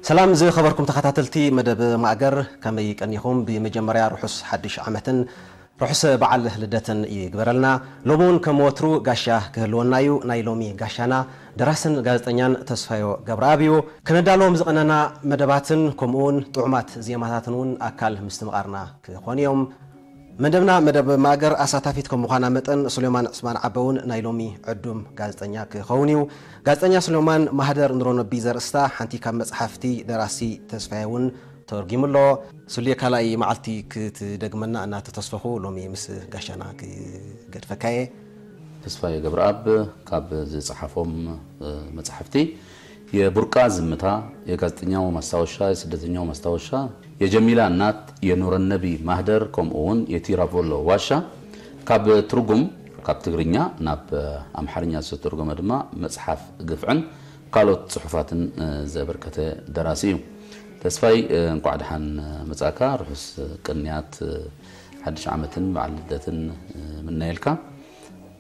ሰላም ዝኸበርኩም ተኸታተልቲ መደብ ማእገር፣ ከመይ ቀኒኹም? ብመጀመርያ ርሑስ ሓድሽ ዓመትን ርሑስ በዓል ልደትን ይግበረልና። ሎሚ እውን ከም ወትሩ ጋሻ ክህልወና እዩ። ናይ ሎሚ ጋሻና ደራስን ጋዜጠኛን ተስፋዮ ገብረኣብ እዩ። ከነዳልዎም ዝቐነና መደባትን ከምኡ እውን ጥዑማት ዜማታትን እውን ኣካል ምስትምቓርና ክኾኑ እዮም። መደብና መደብ ማእገር ኣሳታፊት ከም ምዃና መጠን፣ ሱሌማን ዕስማን ዓበ እውን ናይ ሎሚ ዕዱም ጋዜጠኛ ክኸውን እዩ። ጋዜጠኛ ሱሌማን፣ ማህደር ኑረነቢ ዘርእስታ ሓንቲ ካብ መጽሓፍቲ ደራሲ ተስፋዬ እውን ተርጒሙ ኣሎ። ሱሌ፣ ካልኣይ መዓልቲ ክትደግመና እናተተስፈኹ፣ ሎሚ ምስ ጋሻና ክገድፈካ እየ። ተስፋዬ ገብረኣብ ካብ ዝጸሓፎም፣ እ፣ መጻሕፍቲ የቡርቃ ዝምታ፣ የጋዜጠኛው ማስታወሻ፣ የስደተኛው ማስታወሻ፣ የጀሚላ እናት፣ የኑረነቢ ማህደር፣ ከምኡ እውን የቲራቮሎ ዋሻ፣ ካብ ትርጉም፣ ካብ ትግርኛ ናብ ኣምሓርኛ ዝተተርጎመ ድማ መጽሓፍ ግፍዕን ካልኦት ጽሑፋትን፣ እ፣ ዘበርከተ ደራሲ እዩ። ተስፋይ፣ እ፣ እንቋዕ ደሓን መጻእካ። ርሑስ ቅንያት፣ እ፣ ሓድሽ ዓመትን በዓል ልደትን፣ እ፣ ምነየልካ።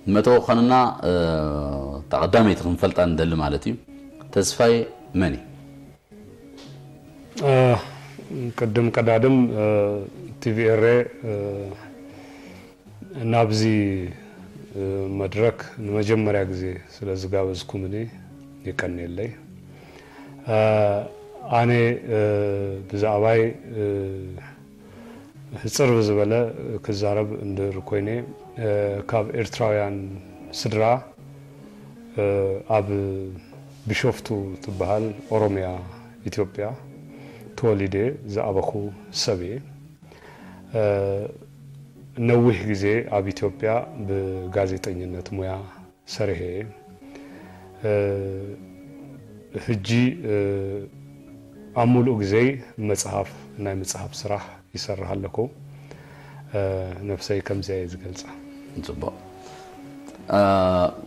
ንመተወኸንና፣ እ፣ እታ ቀዳመይቲ ክንፈልጣ ንደሊ ማለት እዩ። ተስፋይ መን እዩ? እ፣ ቅድም ቀዳድም፣ እ፣ ቲቪ ኤሬ፣ እ፣ ናብዚ፣ እ፣ መድረክ ንመጀመርያ ግዜ ስለ ዝጋበዝኩምኒ የቀንየለይ። እ፣ ኣነ፣ እ፣ ብዛዕባይ፣ እ፣ ሕጽር ብዝበለ ክዛረብ እንድህር ኮይነ፣ እ፣ ካብ ኤርትራውያን ስድራ፣ እ፣ ኣብ ቢሾፍቱ ትበሃል ኦሮምያ ኢትዮጵያ ተወሊደ ዝኣበኹ ሰብ እየ። እ፣ ነዊሕ ግዜ ኣብ ኢትዮጵያ ብጋዜጠኝነት ሙያ ሰሪሐ እየ። እ፣ ሕጂ፣ እ፣ ኣብ ሙሉእ ግዜይ መጽሓፍ፣ ናይ ምጽሓፍ ስራሕ ይሰርሕ ኣለኹ። እ፣ ነብሰይ ከምዚኣ እየ ዝገልጻ። ጽቡቕ። እ፣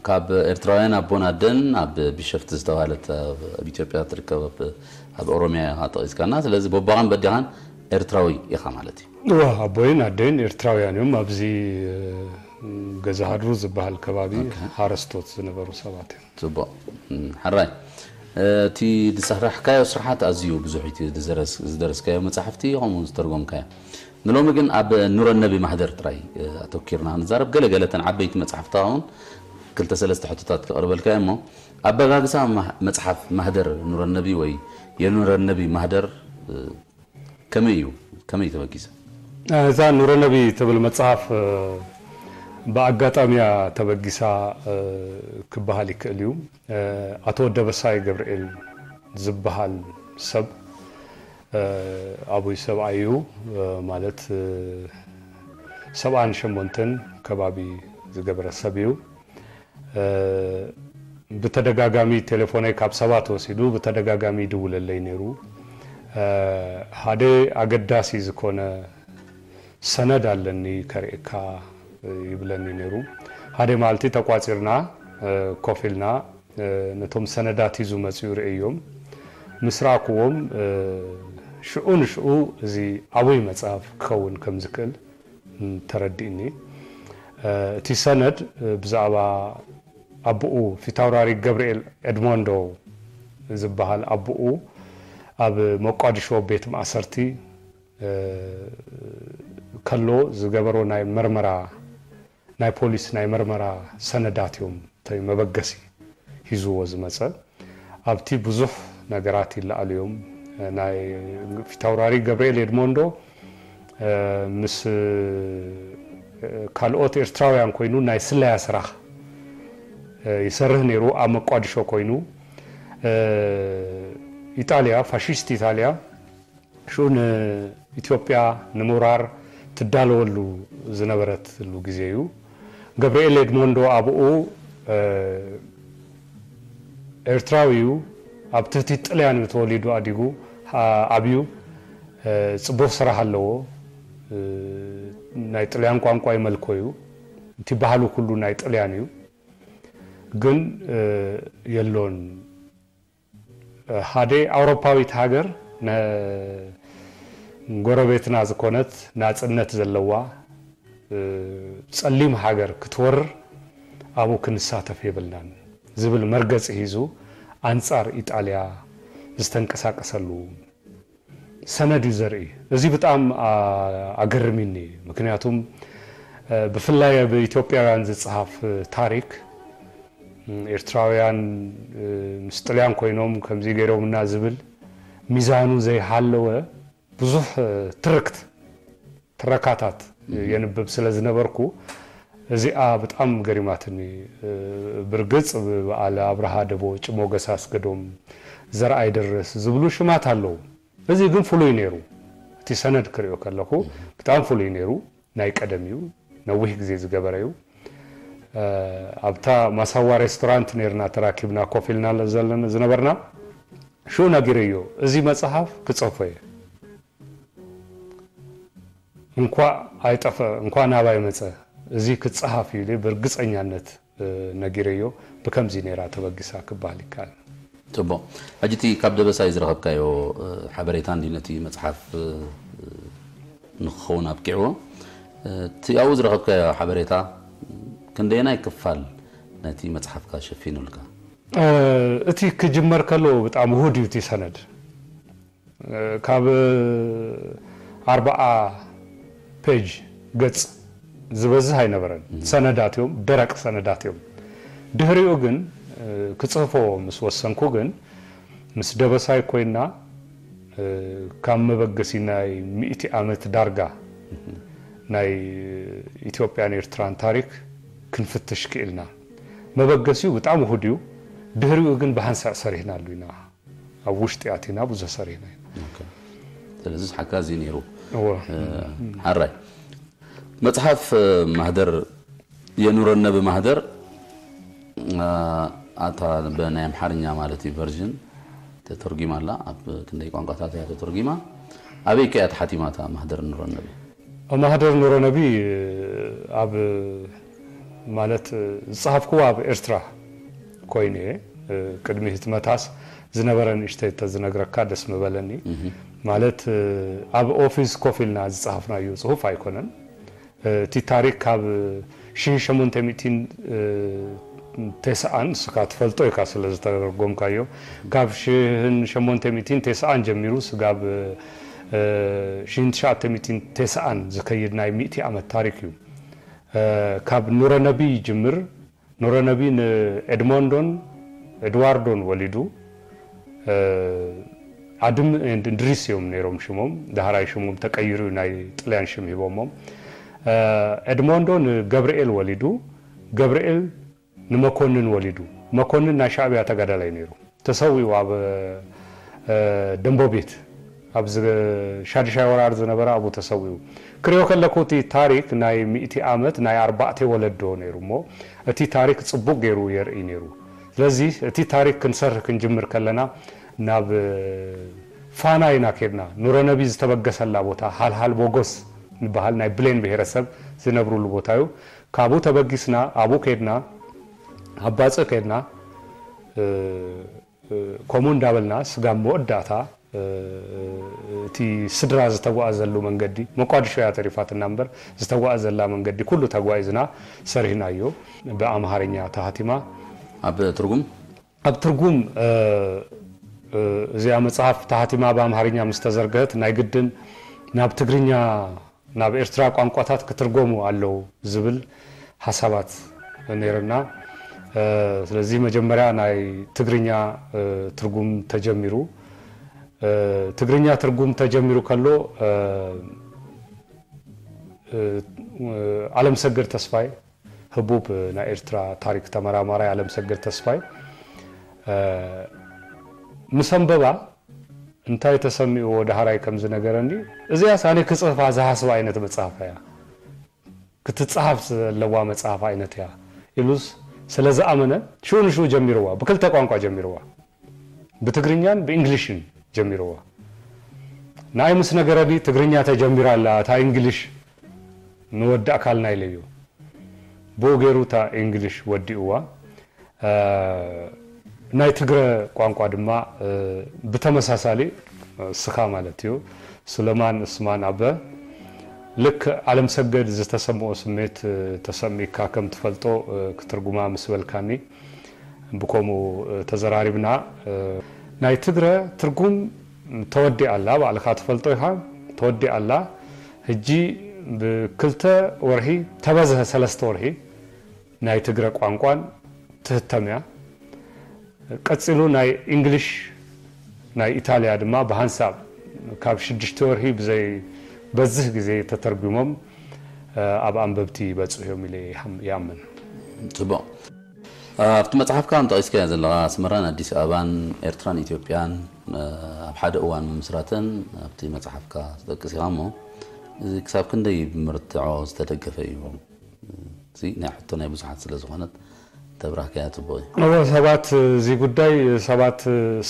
ካብ ኤርትራውያን ኣቦን ኣደን ኣብ ቢሸፍቲ ዝተባህለት ኣብ፣ ኣብ ኢትዮጵያ ትርከብ ኣብ፣ ኣብ ኦሮምያ ኢኻ ጠቒስካና። ስለዚ ቦባኻን በዲኻን ኤርትራዊ ኢኻ ማለት እዩ። እወ፣ ኣቦይን ኣደይን ኤርትራውያን እዮም። ኣብዚ፣ እ፣ ገዛ ሃድሩ ዝበሃል ከባቢ ኦኬ። ሓረስቶት ዝነበሩ ሰባት እዮም። ጽቡቕ። እም፣ ሕራይ። እቲ ዝሰራሕካዮ ስርሓት ኣዝዩ ብዙሕ እዩ። እቲ ዝደረስ-፣ ዝደረስካዮ መጻሕፍቲ፣ ከምኡ ዝተርጎምካዮ። ንሎሚ ግን ኣብ ኑረነቢ ማህደር ጥራይ፣ እ፣ ኣተኲርና ክንዛረብ። ገለ ገለ እተን ዓበይቲ መጻሕፍትኻ እውን ክልተ ሰለስተ ሕቶታት ከቕርበልካ እየ እሞ፣ ኣበጋግሳ ማህ-፣ መጽሓፍ ማህደር ኑረነቢ ወይ የኑረነቢ ማህደር፣ እ፣ ከመይ እዩ? ከመይ ተበጊሰ? እዛ ኑረነቢ ትብል መጽሓፍ፣ እ፣ ብኣጋጣሚያ ተበጊሳ፣ እ፣ ክበሃል ይክእል እዩ። እ፣ ኣቶ ደበሳይ ገብርኤል ዝበሃል ሰብ፣ እ፣ ኣቡይ ሰብኣይ እዩ። እ፣ ማለት፣ እ፣ ሰብዓን ሸሞንተን ከባቢ ዝገበረ ሰብ እዩ። እ፣ ብተደጋጋሚ ቴሌፎነይ ካብ ሰባት ወሲዱ ብተደጋጋሚ ይድውለለይ ነይሩ። እ፣ ሓደ ኣገዳሲ ዝኾነ ሰነድ ኣለኒ ከርእየካ፣ እ፣ ይብለኒ ነይሩ። ሓደ መዓልቲ ተቋጺርና፣ እ፣ ኮፍ ኢልና፣ እ፣ ነቶም ሰነዳት ሒዙ መጺኡ ርእዮም። ምስ ረኣኩዎም፣ እ፣ ሽዑ ንሽዑ እዚ ዓብይ መጽሓፍ ክኸውን ከም ዝክእል ተረዲእኒ። እ፣ እቲ ሰነድ፣ እ፣ ብዛዕባ ኣቦኡ ፊታውራሪ ገብርኤል ኤድሞንዶ ዝበሃል ኣቦኡ ኣብ መቋድሾ ቤት ማእሰርቲ፣ እ፣ ከሎ ዝገበሮ ናይ መርመራ፣ ናይ ፖሊስ ናይ መርመራ ሰነዳት እዮም፣ እቲ መበገሲ ሒዝዎ ዝመጸ። ኣብቲ ብዙሕ ነገራት ይለኣሉ እዮም። ናይ ፊታውራሪ ገብርኤል ኤድሞንዶ፣ እ፣ ምስ፣ እ፣ ካልኦት ኤርትራውያን ኮይኑ ናይ ስለያ ስራሕ፣ እ፣ ይሰርህ ነይሩ። ኣብ መቋድሾ ኮይኑ፣ እ፣ ኢጣልያ፣ ፋሽስት ኢጣልያ ሽኡ ንኢትዮጵያ ንምውራር ትዳለወሉ ዝነበረትሉ ግዜ እዩ። ገብርኤል ኤድሞንዶ ኣብኡ፣ እ፣ ኤርትራዊ እዩ። ኣብ ትሕቲ ጥልያን እዩ ተወሊዱ ኣዲጉ፣ ኣ-፣ ኣብዩ። እ፣ ጽቡቕ ስራሕ ኣለዎ። እ፣ ናይ ጥልያን ቋንቋ ይመልኮ እዩ። እቲ ባህሉ ኩሉ ናይ ጥልያን እዩ። ግን፣ እ፣ የሎን። ሓደ ኣውሮፓዊት ሃገር ነ-፣ ጎረቤትና ዝኾነት ናጽነት ዘለዋ፣ እ፣ ጸሊም ሃገር ክትወርር ኣብኡ ክንሳተፍ የብልናን ዝብል መርገጺ ሒዙ ኣንጻር ኢጣልያ ዝተንቀሳቀሰሉ ሰነድ እዩ ዘርኢ። እዚ ብጣም ኣገርሚኒ። ምክንያቱም ብፍላይ ኣብ ኢትዮጵያውያን ዝፀሃፍ ታሪክ፣ ኤርትራውያን ምስ ጥልያን ኮይኖም ከምዚ ገይሮምና ዝብል ሚዛኑ ዘይሃለወ ብዙሕ ትርክት፣ ትረካታት የንብብ ስለ ዝነበርኩ እዚኣ ብጣም ገሪማትኒ። ብርግጽ ብበዓል ኣብርሃ ደቦጭ፣ ሞገስ ኣስገዶም፣ ዘርኣይ ደረስ ዝብሉ ሽማት ኣለዉ። እዚ ግን ፍሉይ ነይሩ። እቲ ሰነድ ክሪኦ ከለኹ ብጣም ፍሉይ ነይሩ። ናይ ቀደም እዩ፣ ነዊሕ ግዜ ዝገበረ እዩ። ኣብታ ማሳዋ ሬስቶራንት ነርና ተራኪብና ኮፍ ኢልና ዘለና ዝነበርና። ሽኡ ነጊረዮ፣ እዚ መጽሓፍ ክጽሕፎ እየ፣ እንኳ ኣይጠፈ እንኳ ናባይ መጸ፣ እዚ ክጸሃፍ እዩ ኢለ ብርግጸኛነት ነጊረዮ። ብከምዚ ነይራ ተበጊሳ ክበሃል ይከኣል። ጽቡቕ። ሕጂ እቲ ካብ ደበሳይ ዝረኸብካዮ ሓበሬታ እንዲ ነቲ መጽሓፍ ንክኸውን ኣብቂዕዎ። እቲ ኣብኡ ዝረኸብካዮ ሓበሬታ ክንደየናይ ክፋል ነቲ መጽሓፍካ ሸፊኑልካ? እቲ ክጅመር ከሎ ብጣዕሚ ውሁድ እዩ እቲ ሰነድ። ካብ ኣርባዓ ፔጅ ገጽ ዝበዝህ ኣይነበረን። ሰነዳት እዮም፣ ደረቅ ሰነዳት እዮም። ድሕሪኡ ግን ክጽህፎ ምስ ወሰንኩ ግን ምስ ደበሳይ ኮይና ካብ መበገሲ ናይ ሚእቲ ዓመት ዳርጋ ናይ ኢትዮጵያን ኤርትራን ታሪክ ክንፍትሽ ክኢልና። መበገሲኡ ብጣዕሚ ውሁድ እዩ። ድሕሪኡ ግን ብሃንሳእ ሰሪሕናሉ ኢና። ኣብ ውሽጢ ኣቲና ብዙሕ ሰሪሕና ኢና። ስለዚ ሓጋዚ ነይሩ። ሓራይ መፅሓፍ ማህደር የኑረነ ብማህደር ኣታ ብናይ ኣምሓርኛ ማለት እዩ ቨርዥን ተተርጊማ ኣላ። ኣብ ክንደይ ቋንቋታት እያ ተተርጊማ? ኣበይ ከ እያ ተሓቲማ እታ ማህደር ኑረነቢ? ማህደር ኑረነቢ ኣብ ማለት ዝጸሃፍክዎ ኣብ ኤርትራ ኮይኑ እየ። ቅድሚ ህትመታስ ዝነበረ ንእሽተይ ተዝነግረካ ደስ ምበለኒ። ማለት ኣብ ኦፊስ ኮፍ ኢልና ዝጸሃፍናዮ ጽሁፍ ኣይኮነን። እቲ ታሪክ ካብ ሽሕን ሸሞንተ ሚእትን ተስዓን ንስኻ ትፈልጦ ኢኻ ስለ ዝተረጎምካዮ፣ ካብ ሽሕን ሸሞንተ ሚእትን ተስዓን ጀሚሩ ስጋብ ሽሕን ትሽዓተ ሚእትን ተስዓን ዝከይድ ናይ ሚእቲ ዓመት ታሪክ እዩ። ካብ ኑረነቢ ይጅምር። ኑረነቢ ንኤድሞንዶን ኤድዋርዶን ወሊዱ። ኣድም እንድሪስ እዮም ነይሮም ሽሞም። ዳህራይ ሽሞም ተቀይሩ ናይ ጥልያን ሽም ሂቦሞም። ኤድሞንዶ ንገብርኤል ወሊዱ። ገብርኤል ንመኮንን ወሊዱ። መኮንን ናይ ሻዕብያ ተጋዳላይ ነይሩ። ተሰዊኡ ኣብ ደንቦቤት ኣብ ሻድሻይ ወራር ዝነበረ ኣብኡ ተሰዊኡ። ክሪኦ ከለኩ እቲ ታሪክ ናይ ሚእቲ ዓመት ናይ ኣርባዕተ ወለዶ ነይሩ እሞ እቲ ታሪክ ጽቡቅ ገይሩ የርኢ ነይሩ። ስለዚ እቲ ታሪክ ክንሰርሕ ክንጅምር ከለና ናብ ፋና ኢና ከድና። ኑረነቢ ዝተበገሰላ ቦታ ሃልሃል ቦጎስ ዝበሃል ናይ ብሌን ብሄረሰብ ዝነብሩሉ ቦታ እዩ። ካብኡ ተበጊስና ኣብኡ ከድና ኣብ ባጽዕ ከድና ከምኡ እንዳበልና ስጋብ መወዳእታ እቲ ስድራ ዝተጓዓዘሉ መንገዲ፣ መቋድሾ እያ ተሪፋትና እምበር ዝተጓዓዘላ መንገዲ ኩሉ ተጓዒዝና ሰሪሕናዮ። ብኣምሃርኛ ተሃቲማ። ኣብ ትርጉም ኣብ ትርጉም እዚኣ መጽሓፍ ተሃቲማ ብኣምሃርኛ ምስ ተዘርገህት ናይ ግድን ናብ ትግርኛ ናብ ኤርትራ ቋንቋታት ክትርጎሙ ኣለዉ ዝብል ሓሳባት ነይርና። ስለዚ መጀመርያ ናይ ትግርኛ ትርጉም ተጀሚሩ። ትግርኛ ትርጉም ተጀሚሩ ከሎ ኣለምሰገድ ተስፋይ ህቡብ ናይ ኤርትራ ታሪክ ተመራማራይ ኣለምሰገድ ተስፋይ ምስ ኣንበባ እንታይ ተሰሚእዎ ደሃራይ ከም ዝነገረኒ፣ እዚኣስ ኣነ ክጽሕፋ ዝሃስባ ዓይነት መጽሓፍ እያ፣ ክትጽሓፍ ዘለዋ መጽሓፍ ዓይነት እያ ኢሉስ ስለ ዝኣመነ ሽኡ ንሽኡ ጀሚርዋ፣ ብክልተ ቋንቋ ጀሚርዋ፣ ብትግርኛን ብእንግሊሽን ጀሚርዋ። ንኣይ ምስ ነገረኒ ትግርኛ ተጀሚራ ኣላ እታ እንግሊሽ ንወዳእካልና ኢለዮ። ብኡ ገይሩ እታ እንግሊሽ ወዲእዋ። ናይ ትግረ ቋንቋ ድማ ብተመሳሳሊ እስኻ ማለት እዩ ሱለማን እስማን ኣበ ልክ ዓለም ሰገድ ዝተሰምኦ ስሜት ተሰሚካ ከም ትፈልጦ ክትርጉማ ምስ በልካኒ ብከምኡ ተዘራሪብና። ናይ ትግረ ትርጉም ተወዲኣ ኣላ፣ ባዕልኻ ትፈልጦ ኢኻ። ተወዲኣ ኣላ። ሕጂ ብክልተ ወርሒ፣ ተበዝሐ ሰለስተ ወርሒ ናይ ትግረ ቋንቋን ትህተም እያ። ቀጺሉ ናይ እንግሊሽ፣ ናይ ኢጣልያ ድማ ብሃንሳብ ካብ ሽዱሽተ ወርሒ ብዘይ በዝህ ግዜ ተተርጉሞም ኣብ ኣንበብቲ ይበጽሑ እዮም ኢለ ይኣምን። ጽቡቕ። ኣብቲ መጽሓፍካ ከም ጠቒስካዮ ዘለኻ ኣስመራን ኣዲስ ኣበባን ኤርትራን ኢትዮጵያን ኣብ ሓደ እዋን ምምስራተን ኣብቲ መጽሓፍካ ትጠቅስ ኢኻ እሞ፣ እዚ ክሳብ ክንደይ ብምርትዖ ዝተደገፈ እዩ? እዚ ናይ ሕቶ ናይ ብዙሓት ስለ ዝኾነት ተብራህካያ ጽቡቕ እዩ። እወ፣ ሰባት፣ እዚ ጉዳይ ሰባት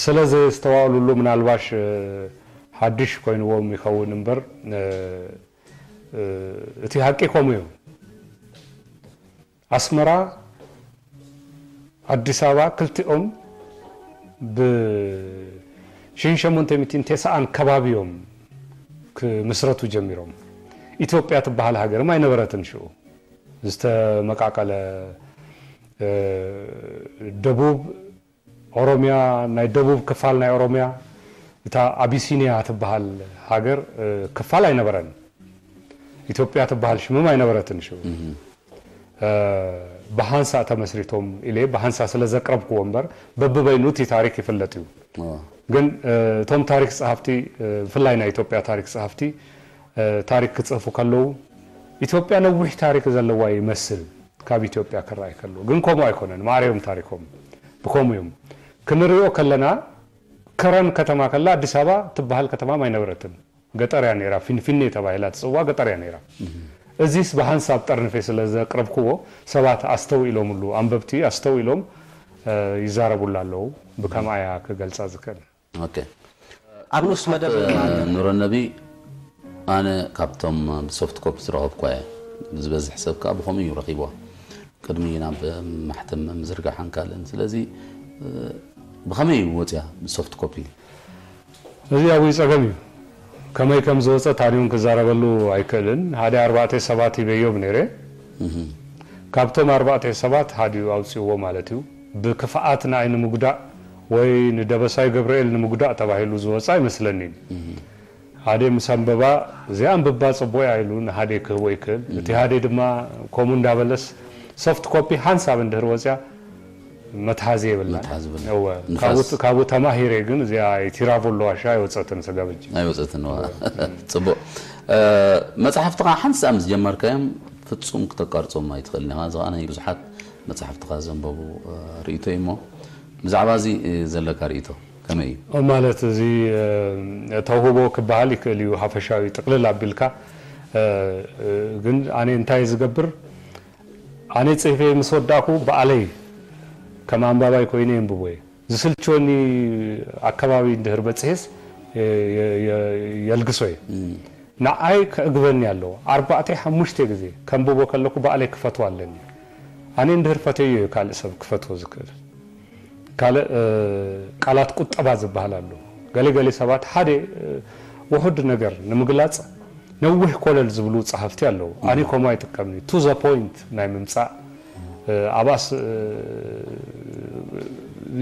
ስለ ዘየስተዋእሉሉ ምናልባሽ ሓድሽ ኮይንዎም ይኸውን እምበር፣ እቲ ሓቂ ከምኡ እዩ። ኣስመራ፣ ኣዲስ ኣበባ ክልቲኦም ብ ሽሕን ሸሞንተ ሚእትን ተስዓን ከባቢ እዮም ክምስረቱ ጀሚሮም። ኢትዮጵያ ትበሃል ሃገርም ኣይነበረትን ሽኡ። ዝተመቃቀለ ደቡብ ኦሮሚያ፣ ናይ ደቡብ ክፋል ናይ ኦሮሚያ፣ እታ ኣቢሲኒያ ትበሃል ሃገር ክፋል ኣይነበረን። ኢትዮጵያ ትበሃል ሽምም ኣይነበረትን ሽኡ። ብሃንሳ ተመስሪቶም ኢለ ብሃንሳ ስለ ዘቅረብክዎ እምበር በብበይኑ እቲ ታሪክ ይፍለጥ እዩ። ግን እቶም ታሪክ ጸሃፍቲ፣ ብፍላይ ናይ ኢትዮጵያ ታሪክ ጸሃፍቲ ታሪክ ክጽህፉ ከለዉ ኢትዮጵያ ነዊሕ ታሪክ ዘለዋ ይመስል ካብ ኢትዮጵያ ክረኣይ ከሎ። ግን ከምኡ ኣይኮነን። ማዕረ እዮም ታሪኮም። ብከምኡ እዮም። ክንሪኦ ከለና ከረን ከተማ ከላ ኣዲስ ኣበባ ትበሃል ከተማም ኣይነበረትን። ገጠር እያ ነይራ፣ ፊንፊኔ ተባሂላ ትጽዋዕ ገጠር እያ ነይራ። እዚስ ብሃንሳብ ጠርንፌ ስለ ዘቅረብክዎ ሰባት ኣስተውኢሎምሉ፣ ኣንበብቲ ኣስተውኢሎም ይዛረቡላ ኣለዉ። ብከምኣ እያ ክገልጻ ዝክእል። ኦኬ። ኣብ ንኡስ መደብ ኑረነቢ ኣነ ካብቶም ብሶፍት ኮፒ ዝረኸብኳ እየ። ዝበዝሕ ሰብ ከዓ ብኸምኡ እዩ ረኺብዋ። ቅድሚ ናብ ማሕተም ምዝርጋሕን ካልእን። ስለዚ ብኸመይ እዩ ወፅያ ብሶፍት ኮፒ? እዚ ኣብይ ጸገም እዩ። ከመይ ከም ዝወፀት ኣነ እውን ክዛረበሉ ኣይክእልን። ሓደ ኣርባዕተ ሰባት ሂበዮም ነይረ። ካብቶም ኣርባዕተ ሰባት ሓዲኡ ኣውፅእዎ ማለት እዩ። ብክፍኣት ንኣይ ንምጉዳእ ወይ ንደበሳይ ገብርኤል ንምጉዳእ ተባሂሉ ዝወፀ ኣይመስለኒን። ሓደ ምስ ኣንበባ እዚኣ ኣንብባ ፅቡቕ እያ ኢሉ ንሃደ ክህቦ ይክእል። እቲ ሃደ ድማ ከምኡ እንዳበለስ ሶፍት ኮፒ ሓንሳብ እንድህር ወፅያ መትሓዚ የብላን። መትሓዚ የብላን። እወ፣ ንፋስ። ካብኡ- ካብኡ ተማሂረ ግን እዚኣ ቲራቮሎ ዋሻ ኣይወፀትን ስጋብ ሕጂ። ኣይወፀትን ዋ ፅቡቅ መፅሓፍትኻ ሓንሳብ ምስ ጀመርካዮም ፍፁም ክተቋርፆም ኣይትኽእልን ኢኻ። እዚ ከዓ ናይ ብዙሓት መፅሓፍትኻ ዘንበቡ ርእይቶ እዩ እሞ ብዛዕባ እዚ ዘለካ ርእይቶ ከመይ እዩ? ማለት እዚ ተውህቦ ክበሃል ይክእል እዩ ሓፈሻዊ ጥቅልል ኣቢልካ። ግን ኣነ እንታይ ዝገብር ኣነ ፅሒፈ ምስ ወዳእኩ በኣለይ ከም ኣንባባይ ኮይነ የንብቦ እየ። ዝስልችወኒ ኣከባቢ እንድህር በፅሔስ የልግሶ እየ። ንዓይ ከእግበኒ ኣለዎ። ኣርባዕተ ሓሙሽተ ግዜ ከንብቦ ከለኩ በኣለይ ክፈትዎ ኣለኒ። ኣነ እንድህር ፈተዮ እዩ ካልእ ሰብ ክፈትዎ ዝክእል። ካልእ ቃላት ቁጠባ ዝበሃል ኣሎ። ገለ ገለ ሰባት ሓደ ውሑድ ነገር ንምግላፅ ነዊሕ ኮለል ዝብሉ ፀሓፍቲ ኣለዉ። ኣነ ከምኡ ኣይጥቀምን። To the point ናይ ምምፃእ ኣብኣስ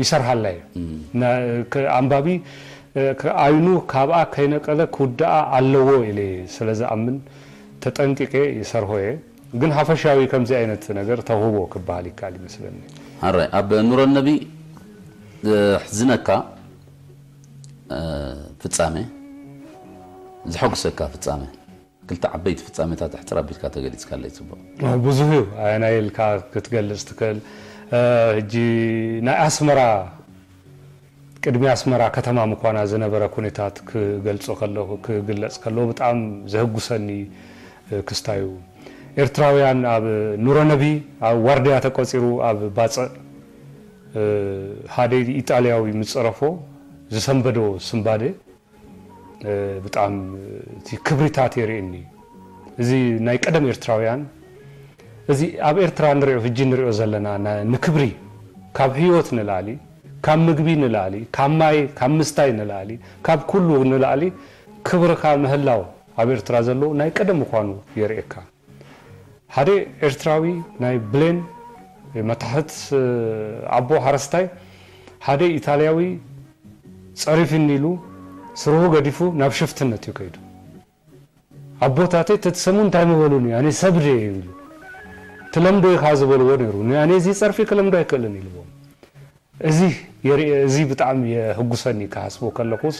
ይሰርሓላ እየ። ኣንባቢ ኣይኑ ካብኣ ከይነቀለ ክውድኣ ኣለዎ ኢለ ስለ ዝኣምን ተጠንቂቀ ይሰርሖ እየ። ግን ሓፈሻዊ ከምዚ ዓይነት ነገር ተውህቦ ክበሃል ይከኣል ይመስለኒ። ሕራይ ኣብ ኑረነቢ ዘሕዝነካ ፍጻሜ፣ ዘሐጉሰካ ፍጻሜ፣ ክልተ ዓበይቲ ፍጻሜታት ኣሕጽር ኣቢልካ ተገሊጽካለይ ጽቡቕ። ብዙህ እዩ። ኣየናይ ኢልካ ክትገልጽ ትክእል? ሕጂ ናይ ኣስመራ ቅድሚ ኣስመራ ከተማ ምዃና ዝነበረ ኩነታት ክገልጾ ከለኹ ክግለጽ ከለኹ ብጣዕሚ ዘህጉሰኒ ክስታይ እዩ። ኤርትራውያን ኣብ ኑረነቢ ኣብ ዋርድያ ተቆጺሩ ኣብ ባጽዕ ሓደ ኢጣልያዊ ምስ ጸረፎ ዝሰንበዶ ስንባደ ብጣዕሚ እቲ ክብሪታት የርእየኒ። እዚ ናይ ቀደም ኤርትራውያን እዚ ኣብ ኤርትራ ንሪኦ ሕጂ ንሪኦ ዘለና ንክብሪ ካብ ህይወት ንላዕሊ ካብ ምግቢ ንላዕሊ ካብ ማይ ካብ ምስታይ ንላዕሊ ካብ ኩሉ ንላዕሊ ክብርኻ ምህላው ኣብ ኤርትራ ዘሎ ናይ ቀደም ምዃኑ የርእየካ። ሓደ ኤርትራዊ ናይ ብሌን መታሕት ኣቦ ሓረስታይ ሓደ ኢታልያዊ ጸሪፍኒ ኢሉ ስርሁ ገዲፉ ናብ ሽፍትነት እዩ ከይዱ። ኣቦታተይ ተትሰሙ እንታይ ምበሉኒ፣ ኣነ ሰብ ድየ ይብሉ። ትለምዶ ኢኻ ዝበልዎ ነይሩ። ንኣነ እዚ ጸርፊ ክለምዶ ኣይክእልን ኢልዎም። እዚ የርኢ፣ እዚ ብጣዕሚ የህጉሰኒ ክሃስቦ ከለኹስ፣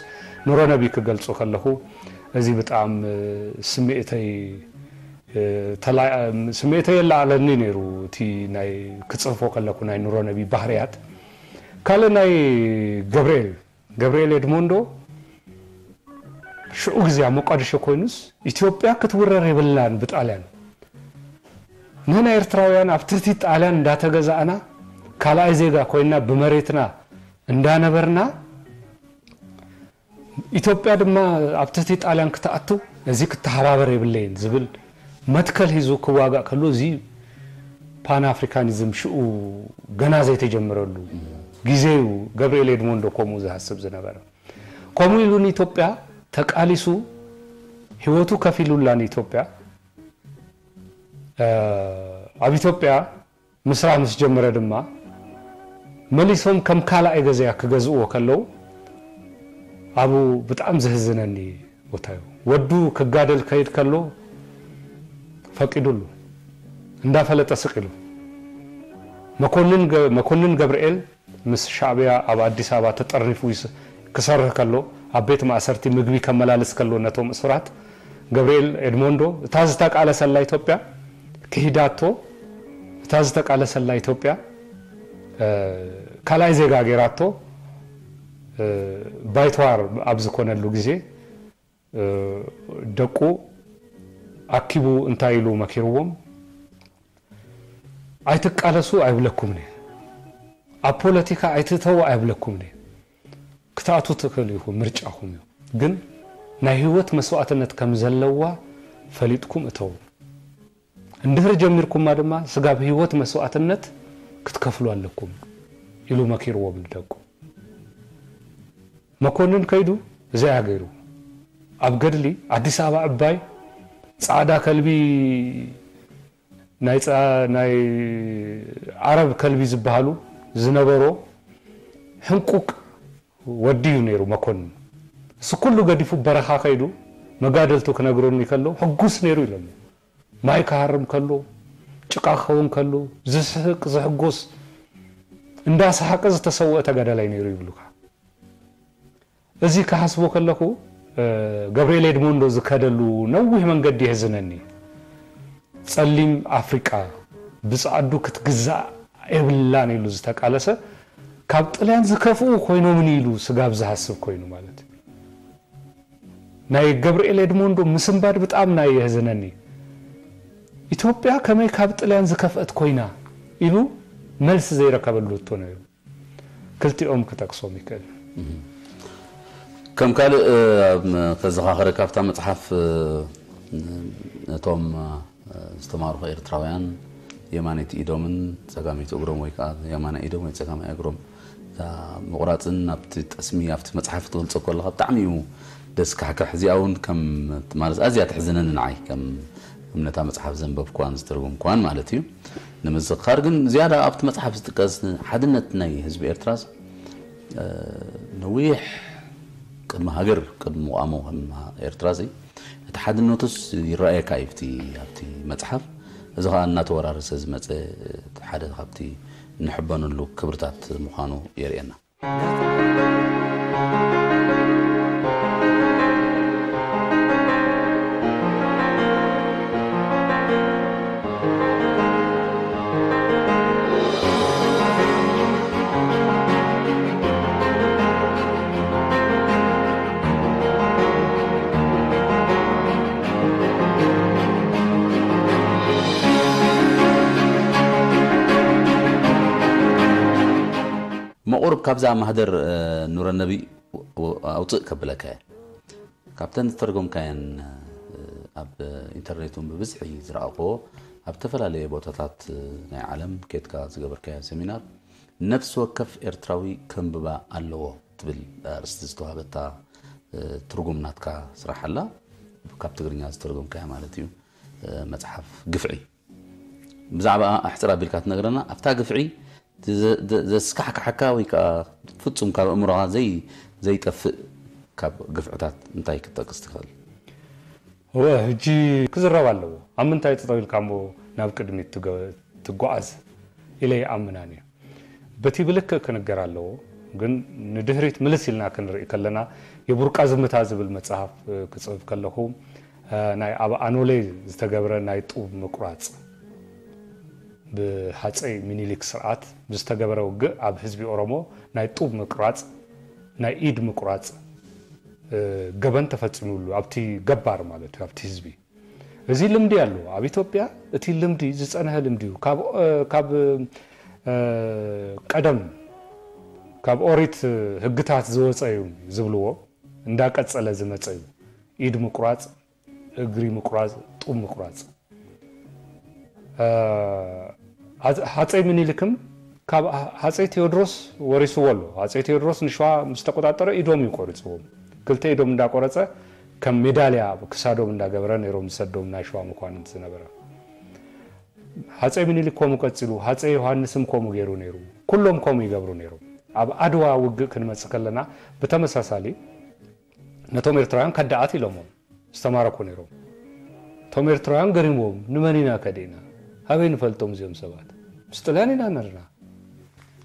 ኑሮ ነቢ ክገልጾ ከለኹ፣ እዚ ብጣዕሚ ስምዒተይ፣ ተላ-፣ ስምዒተይ የለዓለኒ ነይሩ። እቲ ናይ ክጽሕፎ ከለኹ ናይ ኑሮ ነቢ ባህርያት። ካልእ ናይ ገብርኤል፣ ገብርኤል ኤድሞንዶ ሽዑ ግዜ ኣብ ሞቃዲሾ ኮይኑስ፣ ኢትዮጵያ ክትውረር የብላን ብጣልያን። ንሕና ኤርትራውያን ኣብ ትሕቲ ጣልያን እንዳተገዛእና፣ ካልኣይ ዜጋ ኮይና ብመሬትና እንዳነበርና፣ ኢትዮጵያ ድማ ኣብ ትሕቲ ጣልያን ክትኣቱ፣ እዚ ክተሓባበር የብለይን ዝብል መትከል ሒዙ ክዋጋእ ከሎ፣ እዚ ፓን ኣፍሪካኒዝም ሽኡ ገና ዘይተጀመረሉ ግዜ እዩ። ገብርኤል ኤድሞንዶ ከምኡ ዝሃስብ ዝነበረ። ከምኡ ኢሉ ንኢትዮጵያ ተቃሊሱ፣ ህይወቱ ከፊሉላ ንኢትዮጵያ። እ፣ ኣብ ኢትዮጵያ ምስራሕ ምስ ጀመረ ድማ፣ መሊሶም ከም ካልኣይ ገዛያ ክገዝእዎ ከለዉ፣ ኣብኡ ብጣዕሚ ዘህዝነኒ ቦታ እዩ። ወዱ ክጋደል ከይድ ከሎ ፈቂዱሉ፣ እንዳፈለጠ ስቕ ኢሉ። መኮንን ገ-፣ መኮንን ገብርኤል ምስ ሻዕብያ ኣብ ኣዲስ ኣበባ ተጠርኒፉ ይስ-፣ ክሰርህ ከሎ፣ ኣብ ቤት ማእሰርቲ ምግቢ ከመላልስ ከሎ ነቶም እሱራት፣ ገብርኤል ኤድሞንዶ እታ ዝተቃለሰላ ኢትዮጵያ ክሂዳቶ፣ እታ ዝተቃለሰላ ኢትዮጵያ፣ እ፣ ካልኣይ ዜጋ ጌራቶ፣ እ፣ ባይተዋር ኣብ ዝኾነሉ ግዜ፣ እ፣ ደቁ ኣኪቡ እንታይ ኢሉ መኪርዎም? "ኣይትቃለሱ ኣይብለኩምን እየ። ኣብ ፖለቲካ ኣይትእተዉ ኣይብለኩምን እየ። ክትኣትዉ ትኽእሉ ኢኹም፣ ምርጫኹም እዩ። ግን ናይ ህይወት መስዋእትነት ከም ዘለዋ ፈሊጥኩም እተዉ። እንድሕር ጀሚርኩማ ድማ ስጋብ ህይወት መስዋእትነት ክትከፍሉ ኣለኩም" ኢሉ መኪርዎም ንደቁ። መኮንን ከይዱ እዚኣ ገይሩ። ኣብ ገድሊ ኣዲስ ኣበባ ዕባይ ጻዕዳ ከልቢ፣ ናይ ጻ-፣ ናይ ዓረብ ከልቢ ዝበሃሉ ዝነበሮ ሕንቁቅ ወዲ እዩ ነይሩ መኮንን። እሱ ኩሉ ገዲፉ በረኻ ከይዱ መጋደልቱ ክነግረኒ ከሎ ሕጉስ ነይሩ ኢሎሞ። ማይ ክሃርም ከሎ፣ ጭቃ ክኸውን ከሎ፣ ዝስሕቅ ዝሕጎስ፣ እንዳሰሓቀ ዝተሰወአ ተጋዳላይ ነይሩ ይብሉካ። እዚ ክሓስቦ ከለኹ፣ እ፣ ገብርኤል ኤድሞንዶ ዝከደሉ ነዊሕ መንገዲ የሕዝነኒ። ጸሊም ኣፍሪቃ ብጻዕዱ ክትግዛእ የብላን ኢሉ ዝተቃለሰ፣ ካብ ጥልያን ዝከፍኡ ኮይኖምን ኢሉ ስጋብ ዝሃስብ ኮይኑ ማለት እዩ። ናይ ገብርኤል ኤድሞንዶ ምስንባድ ብጣዕሚ ናይ የሕዝነኒ። ኢትዮጵያ ከመይ ካብ ጥልያን ዝከፍአት ኮይና ኢሉ መልሲ ዘይረከበሉ እቶ ነይሩ። ክልቲኦም ክጠቅሶም ይክእል። ከም ካልእ፣ እ፣ ኣብ መ-፣ ከዘኻኽረካ ኣብታ መጽሓፍ፣ እ፣ ነቶም፣ እ፣ ዝተማርኹ ኤርትራውያን የማነይቲ ኢዶምን ጸጋመይቲ እግሮም ወይ ከኣ የማናይ ኢዶም ወይ ጸጋማይ እግሮም እታ ምቑራጽን ኣብቲ ጠስሚ ኣብቲ መጽሓፍ ትገልጾ ከለኻ ብጣዕሚ እዩ ደስ ካሕካሕ። እዚኣ እውን ከም ማለት ኣዝያ ተሕዝነኒ ንዓይ ከም እምነታ መጽሓፍ ዘንበብኳን ዝተርጎምኳን ማለት እዩ። ንምዝኽኻር ግን ዝያዳ ኣብቲ መጽሓፍ ዝጥቀስ ሓድነት ናይ ህዝቢ ኤርትራስ፣ እ፣ ነዊሕ ቅድሚ ሃገር፣ ቅድሚ ምቋሙ ከም ኤርትራሲ፣ እቲ ሓድነቱስ ይረኣየካ እዩ ኣብቲ፣ ኣብቲ መጽሓፍ። እዚ ኸኣ እናተወራረሰ ዝመጸ ሓደ ካብቲ እንሕበነሉ ክብርታት ምዃኑ የርእየና። መቑርብ ካብዛ ማህደር፣ እ፣ ኑረነቢ ኣውፅእ ከብለካ እየ። ካብተን ዝተርጎምካየን፣ እ፣ ኣብ ኢንተርኔት እውን ብብዝሒ ዝረኣኽዎ፣ ኣብ ዝተፈላለየ ቦታታት፣ እ፣ ናይ ዓለም ኬድካ ዝገበርካዮ ሰሚናር፣ "ነፍሲ ወከፍ ኤርትራዊ ከንብባ ኣለዎ" ትብል ኣርእስቲ ዝተዋህበታ፣ እ፣ ትርጉም ናትካ ስራሕ ኣላ። ካብ ትግርኛ ዝተርጎምካያ ማለት እዩ። እ፣ መጽሓፍ ግፍዒ። ብዛዕባኣ ኣሕጽር ኣቢልካ ትነግረና? ኣብታ ግፍዒ ዘ-፣ ዘ-፣ ዘስካሕክሓካ ወይ ከኣ ፍጹም ካብ ኣእምሮኻ ዘይ-፣ ዘይጠፍእ ካብ ግፍዕታት እንታይ ክትጠቅስ ትኽእል? እወ፣ ሕጂ ክዝረብ ኣለዎ። ኣብ ምንታይ ጠጠው ኢልካ እሞ ናብ ቅድሚት ትገ- ትጓዓዝ ኢለ ይኣምን ኣነ። በቲ ብልክእ ክንገር ኣለዎ። ግን ንድሕሪት ምልስ ኢልና ክንርኢ ከለና፣ የቡርቃ ዝምታ ዝብል መጽሓፍ ክጽሕፍ ከለኹ፣ ናይ ኣብ ኣኖሌ ዝተገብረ ናይ ጡብ ምቁራጽ፣ ብሃጸይ ሚኒሊክ ስርዓት ብዝተገበረ ውግእ ኣብ ህዝቢ ኦሮሞ ናይ ጡብ ምቁራጽ፣ ናይ ኢድ ምቁራጽ ገበን ተፈጺሙሉ ኣብቲ ገባር ማለት እዩ፣ ኣብቲ ህዝቢ። እዚ ልምዲ ኣሎ ኣብ ኢትዮጵያ። እቲ ልምዲ ዝጸንሐ ልምዲ እዩ። ካብ ካብ ቀደም ካብ ኦሪት ህግታት ዝወጸ እዩ ዝብልዎ እንዳቀጸለ ዝመጸ እዩ። ኢድ ምቁራጽ፣ እግሪ ምቁራጽ፣ ጡብ ምቁራጽ። ሃፀይ ምኒልክም ካብ ሃፀይ ቴዎድሮስ ወሪስዎ ኣሎ። ሃፀይ ቴዎድሮስ ንሸዋ ምስ ተቆጣጠረ ኢዶም እዩ ቆሪፅዎም። ክልተ ኢዶም እንዳቆረፀ ከም ሜዳልያ ክሳዶም እንዳገበረ ነይሮም ዝሰዶም ናይ ሸዋ መኳንንት ዝነበረ። ሃፀይ ምኒልክ ከምኡ ቀፂሉ፣ ሃፀይ ዮሃንስም ከምኡ ገይሩ ነይሩ። ኩሎም ከምኡ ይገብሩ ነይሮም። ኣብ ኣድዋ ውግእ ክንመፅእ ከለና ብተመሳሳሊ ነቶም ኤርትራውያን ከዳኣት ኢሎሞም ዝተማረኩ ነይሮም። እቶም ኤርትራውያን ገሪምዎም፣ ንመን ኢና ከዲእና? ኣበይ ንፈልጦም እዚኦም ሰባት? ምስ ጥልያን ኢና ነርና።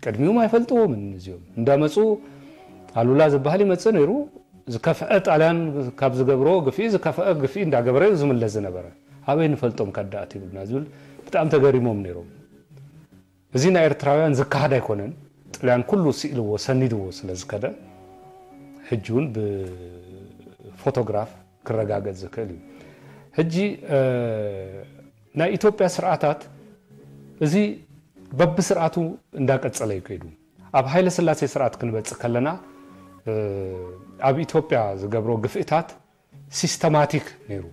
ቅድሚኡም ኣይፈልጥዎምን እዚኦም። እንዳመፁ ኣሉላ ዝበሃል ይመፅእ ነይሩ። ዝከፍአ ጣልያን ካብ ዝገብሮ ግፍኢ ዝከፍአ ግፍኢ እንዳገበረ እዩ ዝምለስ ዝነበረ። ኣበይ ንፈልጦም ከዳኣት ይብሉና ዝብል ብጣዕሚ ተገሪሞም ነይሮም። እዚ ናይ ኤርትራውያን ዝከሃድ ኣይኮነን። ጥልያን ኩሉ ስኢልዎ ሰኒድዎ ስለ ዝከደ ሕጂ እውን ብፎቶግራፍ ክረጋገጽ ዝክእል እዩ። ሕጂ ናይ ኢትዮጵያ ስርዓታት እዚ በብስርዓቱ እንዳቀጸለ እዩ ከይዱ። ኣብ ሃይለ ስላሴ ስርዓት ክንበጽእ ከለና ኣብ ኢትዮጵያ ዝገብሮ ግፍእታት ሲስተማቲክ ነይሩ።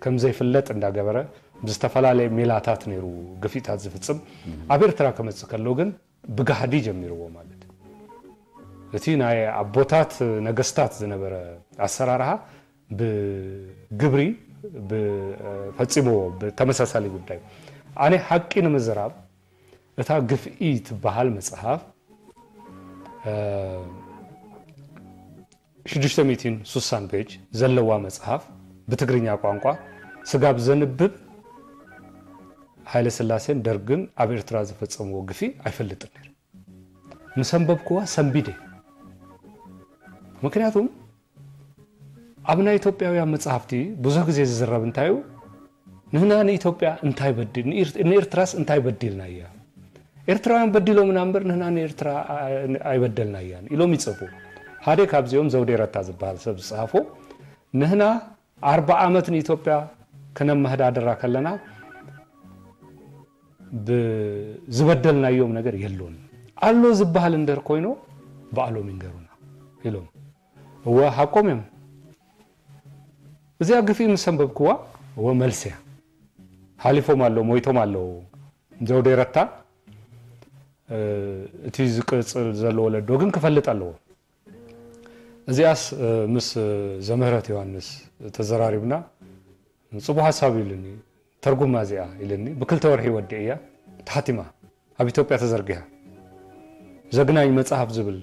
ከም ዘይፍለጥ እንዳገበረ ብዝተፈላለየ ሜላታት ነይሩ ግፍኢታት ዝፍጽም። ኣብ ኤርትራ ክመጽእ ከሎ ግን ብጋህዲ ጀሚርዎ ማለት እዩ። እቲ ናይ ኣቦታት ነገስታት ዝነበረ ኣሰራርሃ ብግብሪ ፈጺምዎ ብተመሳሳሊ ጉዳይ። ኣነ ሓቂ ንምዝራብ እታ ግፍኢ ትበሃል መጽሓፍ ሽዱሽተ ሚእትን ሱሳን ፔጅ ዘለዋ መጽሓፍ ብትግርኛ ቋንቋ ስጋብ ዘንብብ ሃይለ ስላሴን ደርግን ኣብ ኤርትራ ዝፈጸምዎ ግፊ ኣይፈልጥን ነይረ። ምስ ኣንበብክዋ ሰንቢደ። ምክንያቱም ኣብ ናይ ኢትዮጵያውያን መጽሓፍቲ ብዙሕ ግዜ ዝዝረብ እንታይ እዩ? ንህና ንኢትዮጵያ እንታይ በዲል ንኤርትራስ እንታይ በዲልና እያ? ኤርትራውያን በዲሎምና እምበር ንህና ንኤርትራ ኣይበደልና እያን ኢሎም ይጽፉ። ሓደ ካብዚኦም ዘውዴ ረታ ዝበሃል ሰብ ዝጸሓፎ ንህና ኣርባ ዓመት ንኢትዮጵያ ክነመሃዳድራ ከለና ዝበደልናዮም ነገር የሎን ኣሎ ዝበሃል እንደር ኮይኖ ባዕሎም ይንገሩና ኢሎም። እወ ሓቆም እዮም። እዚኣ ግፊ ምስ ኣንበብክዋ እወ መልሲ እያ። ሓሊፎም ኣለዉ፣ ሞይቶም ኣለዉ። ዘውዴ ረታ እቲ ዝቅጽል ዘሎ ወለዶ ግን ክፈልጥ ኣለዎ። እዚኣስ ምስ ዘምህረት ዮሃንስ ተዘራሪብና ጽቡቅ ሓሳብ ኢሉኒ። ተርጉማ እዚኣ ኢለኒ። ብክልተ ወርሒ ወዲእያ ተሓቲማ ኣብ ኢትዮጵያ ተዘርጊሓ። ዘግናኝ መጽሓፍ ዝብል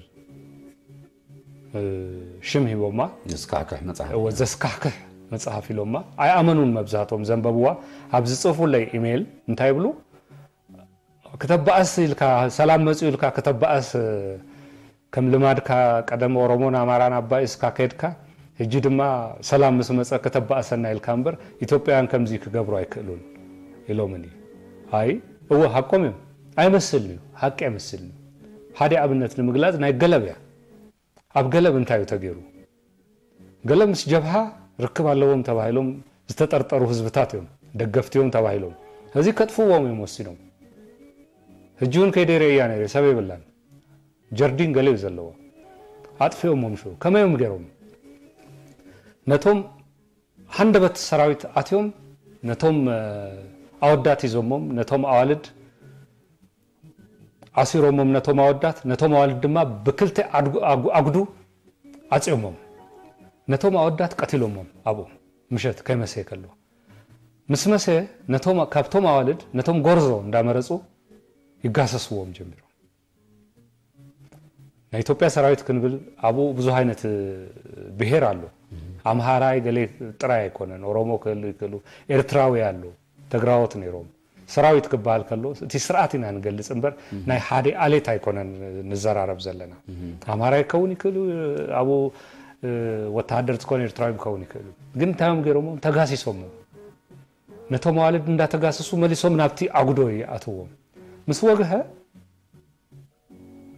ሽም ሂቦማ። ዘስካሕክሕ መጽሓፍ። እወ ዘስካሕክሕ መጽሓፍ ኢሎማ። ኣይኣመኑን መብዛህቶም ዘንበብዋ። ኣብ ዝጽፉለይ ኢሜይል እንታይ ይብሉ? ክተባእስ ኢልካ ሰላም መጽኡ ኢልካ ክተባእስ ከም ልማድካ ቀደም ኦሮሞን ኣማራን ኣባኢስካ ከድካ ሕጂ ድማ ሰላም ምስ መጸ ክተባእሰና ኢልካ እምበር ኢትዮጵያውያን ከምዚ ክገብሩ ኣይክእሉን ኢሎምኒ። ኣይ እወ ሓቆም እዮም። ኣይመስልን እዩ፣ ሓቂ ኣይመስልን እዩ። ሓደ ኣብነት ንምግላጽ ናይ ገለብ እያ። ኣብ ገለብ እንታይ እዩ ተገይሩ? ገለ ምስ ጀብሃ ርክብ ኣለዎም ተባሂሎም ዝተጠርጠሩ ህዝብታት እዮም፣ ደገፍቲ እዮም ተባሂሎም። እዚ ከጥፍዎም እዮም ወሲኖም። ሕጂ እውን ከይደ ርእያ ነይረ፣ ሰብ የብላን። ጀርዲን ገለ እዩ ዘለዎ። ኣጥፊኦሞም ሽዑ። ከመይ እዮም ገይሮም? ነቶም ሃንደበት ሰራዊት ኣትዮም ነቶም ኣወዳት ሂዞሞም ነቶም ኣዋልድ ዓሲሮሞም ነቶም ኣወዳት፣ ነቶም ኣዋልድ ድማ ብክልተ ኣጉዱ ዓጽዮሞም። ነቶም ኣወዳት ቀቲሎሞም ኣብኡ ምሸት ከይመሰየ ከሎ። ምስ መሰየ ነቶም ካብቶም ኣዋልድ ነቶም ጎርዞ እንዳመረጹ ይጋሰስዎም ጀሚሮም። ኢትዮጵያ ሰራዊት ክንብል ኣብኡ ብዙሕ ዓይነት ብሄር ኣሎ። ኣምሃራይ ገሌ ጥራይ ኣይኮነን፣ ኦሮሞ ክህሉ ይክእሉ፣ ኤርትራዊ ኣሎ፣ ተግራዎት ነይሮም። ሰራዊት ክበሃል ከሎ እቲ ስርዓት ኢና ንገልጽ እምበር ናይ ሓደ ኣሌት ኣይኮነን ንዘራረብ ዘለና። ኣምሃራይ ክኸውን ይክእሉ፣ ኣብኡ ወተሃደር ዝኾነ ኤርትራዊ ክኸውን ይክእሉ። ግን እንታይ እዮም ገይሮሞም? ተጋሲሶም። ነቶም ኣዋልድ እንዳተጋሰሱ መሊሶም ናብቲ ኣጉዶ ይኣትዎም። ምስ ወግሀ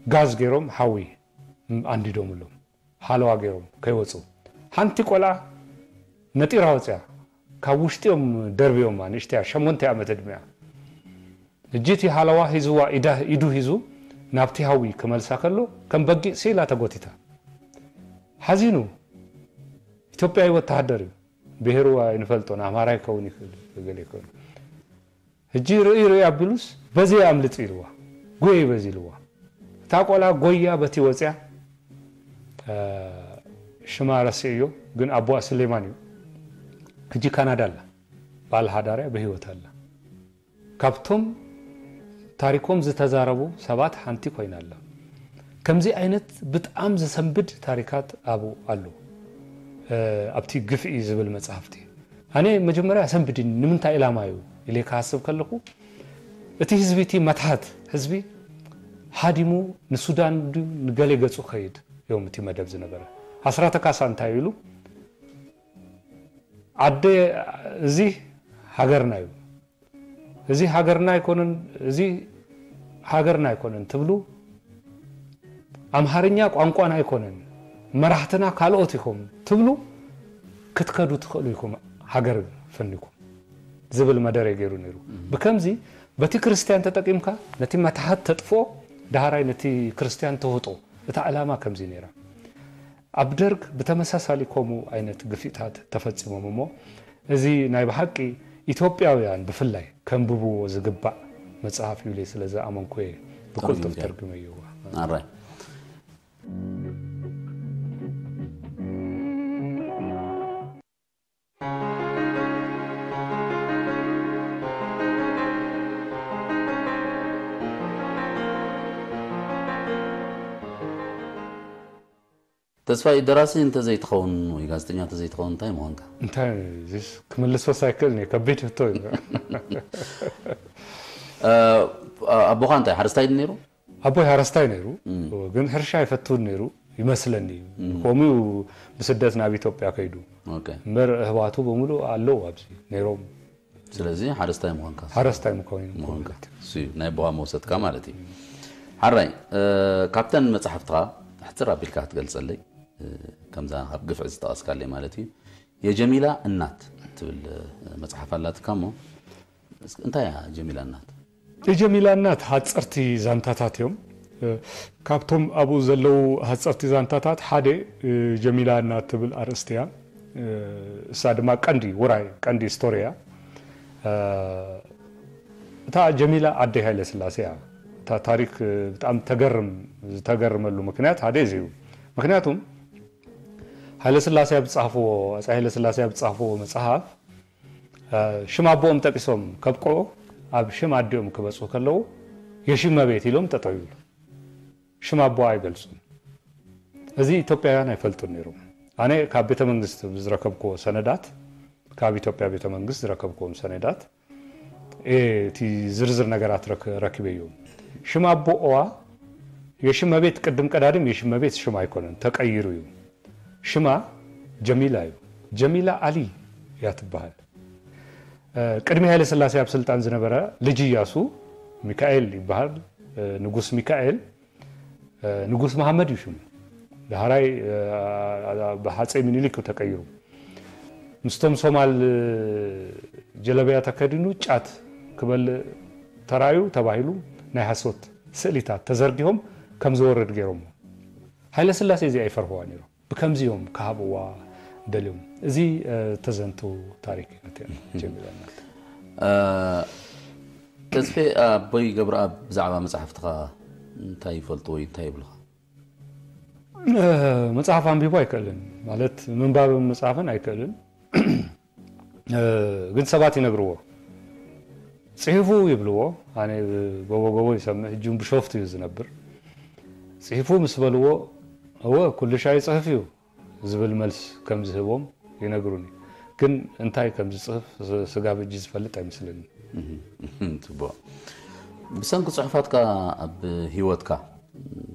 ጋዝ ገይሮም ሓዊ ኣንዲዶምሎም፣ ሃለዋ ገይሮም ከይወፁ። ሓንቲ ቆልዓ ነጢራ ወፅያ። ካብ ውሽጢኦም ደርብዮማ፣ ንእሽተያ ሸሞንተ ዓመት ዕድሚያ። እጂ እቲ ሃለዋ ሂዝዋ፣ ኢዳ- ኢዱ ሂዙ ናብቲ ሃዊ ክመልሳ ከሎ ከም በጊዕ ስኢላ ተጎቲታ። ሓዚኑ። ኢትዮጵያዊ ወተሃደር እዩ። ብሄሩ ኣይንፈልጦን፣ ኣምሃራይ ክኸውን ይኽእል፣ ገለ ይኽእል። ሕጂ ርእይ ርእይ ኣቢሉስ በዚ ኣምልጥ ኢልዋ፣ ጎይ በዚ ኢልዋ። እታ ቆልዓ ጎያ በቲ ወፅያ። ሽማ ረሲዕዮ፣ ግን ኣቦኣ ስሌማን እዩ። ሕጂ ካናዳ ኣላ። ባል ሓዳርያ ብህይወት ኣላ። ካብቶም ታሪኮም ዝተዛረቡ ሰባት ሓንቲ ኮይና ኣላ። ከምዚ ዓይነት ብጣም ዘሰንብድ ታሪካት ኣብኡ ኣሎ። ኣብቲ ግፍዒ ዝብል መጽሓፍቲ ኣነ መጀመርያ ኣሰንብድኒ። ንምንታይ ዕላማ እዩ ኢለ ክሃስብ ከለኹ፣ እቲ ህዝቢ፣ እቲ መትሓት ህዝቢ ሃዲሙ ንሱዳን ድዩ ንገሌ ገጹ ከይድ እዮም። እቲ መደብ ዝነበረ ኣስራተ ካሳ እንታይ ኢሉ፣ ዓደ፣ እዚ ሃገርና እዩ፣ እዚ ሃገርና ኣይኮነን፣ እዚ ሃገርና ኣይኮነን ትብሉ፣ ኣምሃርኛ ቋንቋና ኣይኮነን፣ መራሕትና ካልኦት ኢኹም ትብሉ፣ ክትከዱ ትኽእሉ ኢኹም ሃገር ፈኒኩም ዝብል መደረ ገይሩ ነይሩ። ብከምዚ በቲ ክርስትያን ተጠቂምካ ነቲ መትሓት ተጥፍኦ፣ ዳህራይ ነቲ ክርስትያን ተውጦ፣ እታ ዕላማ ከምዚ ነይራ። ኣብ ደርግ ብተመሳሳሊ ከምኡ ዓይነት ግፍዒታት ተፈጺሞም እሞ፣ እዚ ናይ ብሓቂ ኢትዮጵያውያን ብፍላይ ከንብብዎ ዝግባእ መጽሓፍ እዩ ኢለ ስለ ዝኣመንኩ እየ ብቅልጡፍ ተርጉመዮ። ኣራይ። ተስፋይ፣ ደራሲ እንተዘይትኸውን ወይ ጋዜጠኛ እንተዘይትኸውን እንታይ ምኾንካ? እንታይ፣ እዚስ ክምልሶስ ኣይክእልን እየ፣ ከቢድ ሕቶ እዩ። እ፣ ኣቦኻ እንታይ ሓረስታይ ድዩ ነይሩ? ኣቦይ ሓረስታይ ነይሩ፣ ግን ሕርሻ ኣይፈትውን ነይሩ ይመስለኒ። ከምኡ እዩ ብስደት ናብ ኢትዮጵያ ከይዱ። ኦኬ። እምበር እህዋቱ በሙሉ ኣለዉ ኣብዚ ነይሮም። ስለዚ ሓረስታይ ምዃንካ። ሓረስታይ ምዃን እዩ ምዃንካ። ማለት እዩ። እሱ እዩ ናይ ኣቦኻ መውሰድካ ማለት እዩ። ሓራይ፣ እ፣ ካብተን መጽሓፍትኻ ሕጽር ኣቢልካ ክትገልጸለይ፣ እ፣ ከምዛ ካብ ግፍዒ ዝጠቐስካለይ ማለት እዩ። የጀሚላ እናት ትብል፣ እ፣ መጽሓፍ ኣላትካ እሞ፣ እስኪ እንታይ እያ ጀሚላ እናት? የጀሚላ እናት ሓጸርቲ ዛንታታት እዮም። እ፣ ካብቶም ኣብኡ ዘለዉ ሓጸርቲ ዛንታታት ሓደ፣ እ፣ ጀሚላ እናት ትብል ኣርእስቲ እያ። እ፣ እሳ ድማ ቀንዲ ውራይ፣ ቀንዲ ስቶሪ እያ። እ፣ እታ ጀሚላ ኣደይ ሃይለስላሴ እያ። እታ ታሪክ፣ እ፣ ብጣዕሚ ተገርም፣ ዝተገርመሉ ምክንያት ሓደ እዚ እዩ። ምክንያቱም ሃይለስላሴ ኣብ ዝጸሓፍዎ፣ ኣፄ ሃይለስላሴ ኣብ ዝጸሓፍዎ መጽሓፍ፣ እ፣ ሽም ኣቦኦም ጠቂሶም ከብቅዑ፣ ኣብ ሽም ኣዲኦም ክበጽሑ ከለዉ፣ የሽመቤት ኢሎም ጠጠው ይብሉ። ሽም ኣቦኣ ኣይገልጹን። እዚ ኢትዮጵያውያን ኣይፈልጡን ነይሮም። ኣነ ካብ ቤተ መንግስት ዝረከብክዎ ሰነዳት፣ ካብ ኢትዮጵያ ቤተ መንግስት ዝረከብክዎም ሰነዳት፣ እ፣ እቲ ዝርዝር ነገራት ረክ-፣ ረኪበዮ። ሽም ኣቦኣ የሽመቤት ቅድም ቀዳድም የሽመቤት ሽም ኣይኮነን፣ ተቀይሩ እዩ። ሽማ ጀሚላ እዩ። ጀሚላ ኣሊ እያ ትበሃል። እ፣ ቅድሚ ሃይለ ስላሴ ኣብ ስልጣን ዝነበረ ልጅ እያሱ ሚካኤል ይበሃል። እ፣ ንጉስ ሚካኤል፣ እ፣ ንጉስ መሃመድ እዩ ሽሙ። ዳህራይ፣ እ፣ ብሃፀይ ሚኒሊክ እዩ ተቀይሩ። ምስቶም ሶማል ጀለብያ ተከዲኑ ጫት ክበልእ ተራእዩ ተባሂሉ ናይ ሓሶት ስእሊታት ተዘርጊሆም ከም ዝወርድ ገይሮሞ። ሃይለ ስላሴ እዚኣ ይፈርህዋ ነይሮም። ብከምዚ እዮም ክሃብዋ ደልዮም። እዚ፣ እ፣ ተዘንቱ ታሪክ እዩ ነቲ ጀሚላ እናት። እ፣ ተስፌ፣ ኣቦይ ገብረኣብ ብዛዕባ መጽሓፍትኻ እንታይ ይፈልጡ ወይ እንታይ ይብሉኻ? እ፣ መጽሓፍ ኣንቢቡ ኣይክእልን፣ ማለት ምንባብን ምጽሓፍን ኣይክእልን። እ፣ ግን ሰባት ይነግርዎ። ጽሒፉ ይብልዎ። ኣነ ጎቦ ጎቦ ይሰምዕ፣ ሕጂ እውን ብሾፍቱ እዩ ዝነብር። ጽሒፉ ምስ በልዎ፣ እወ ኩሉ ሻይ ይጽሕፍ እዩ ዝብል መልስ ከም ዝህቦም ይነግሩኒ። ግን እንታይ ከም ዝጽሕፍ ስ- ስጋብ ሕጂ ዝፈልጥ ኣይመስለኒ። ጽቡቕ። ብሰንኪ ጽሑፋትካ ኣብ ህይወትካ